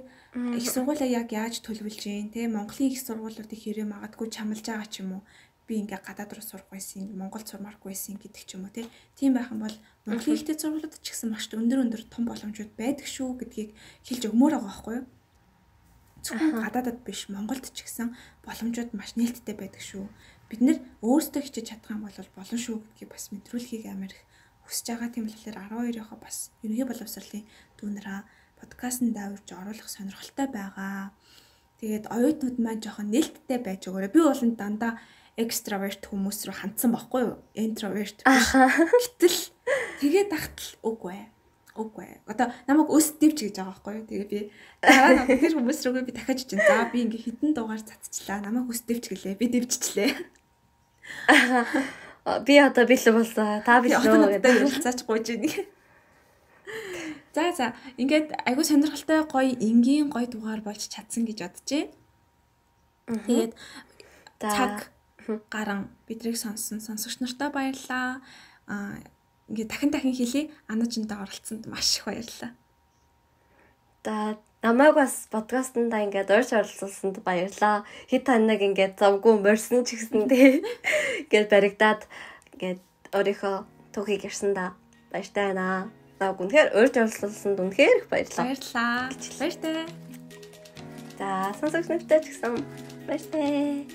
их сургуулаа яг яаж төлөвлөж юм те? Монголын их сургуулиудыг хэрэг магадгүй чамлаж байгаа ч юм уу? Би ингээ гадаад руу сурах байсан, Монголд сурмааргүй байсан гэдэг ч юм уу тийм байх юм бол Монголын ихтэй сургуулиуд ч гэсэн маш өндөр том боломжууд байдаг шүү гэдгийг хэлж өгмөр байгаа байхгүй юу? Зөвхөн гадаадад биш, Монголд ч гэсэн боломжууд маш нээлттэй байдаг шүү. Бид нэр өөрсдөө хичээж чадах юм бол болно шүү гэдгийг бас мэдрүүлэхийг амар их хүсэж байгаа. Тийм болохоор 12-ийнхоо бас ерөнхий боловсролын дүүнраа подкастт давж оруулах сонирхолтой байгаа. Тэгээд оюутнууд маань жоохон нээлттэй байж өгөөрэй. Би бол дандаа экстраверт хүмүүс рүү хандсан байхгүй юу? Интроверт биш. Гэтэл тэгээд тахтал үгүй. Одоо намайг өс дэвч гэж байгаа байхгүй юу? Тэгээ би дараа нь тэр хүмүүс рүүгээ би дахиад чинь. За би ингээ хитэн дугаар цацчлаа. Намайг өс дэвч гэлээ. Би дэвччлээ. Би одоо бэлэн болсон. Та бэлэн гэдэг хэлцаач гуйж ийн. За ингээд айгу сонирхолтой гоё энгийн гоё дугаар болж чадсан гэж бодчихъя. Тэгээд цаг гарan бидрийг сонссон сонсогч нартай баярлалаа. Ингээд дахин хэлье. Ануучиндаа оролцсонд маш их баярлалаа. Намайг бас подкастт ингээд урьж оролцуулсанд баярлалаа. Хэд таныг ингээд завгүй морьсон ч гэсэндээ ингээд баригдаад ингээд өөрийнхөө түүхийг ярьсан да баяртай байна. Үнэхээр урьж оролцуулсанд үнэхээр их баярлалаа. Баяртай. За сонсогч нартай ч гэсэн баяртай.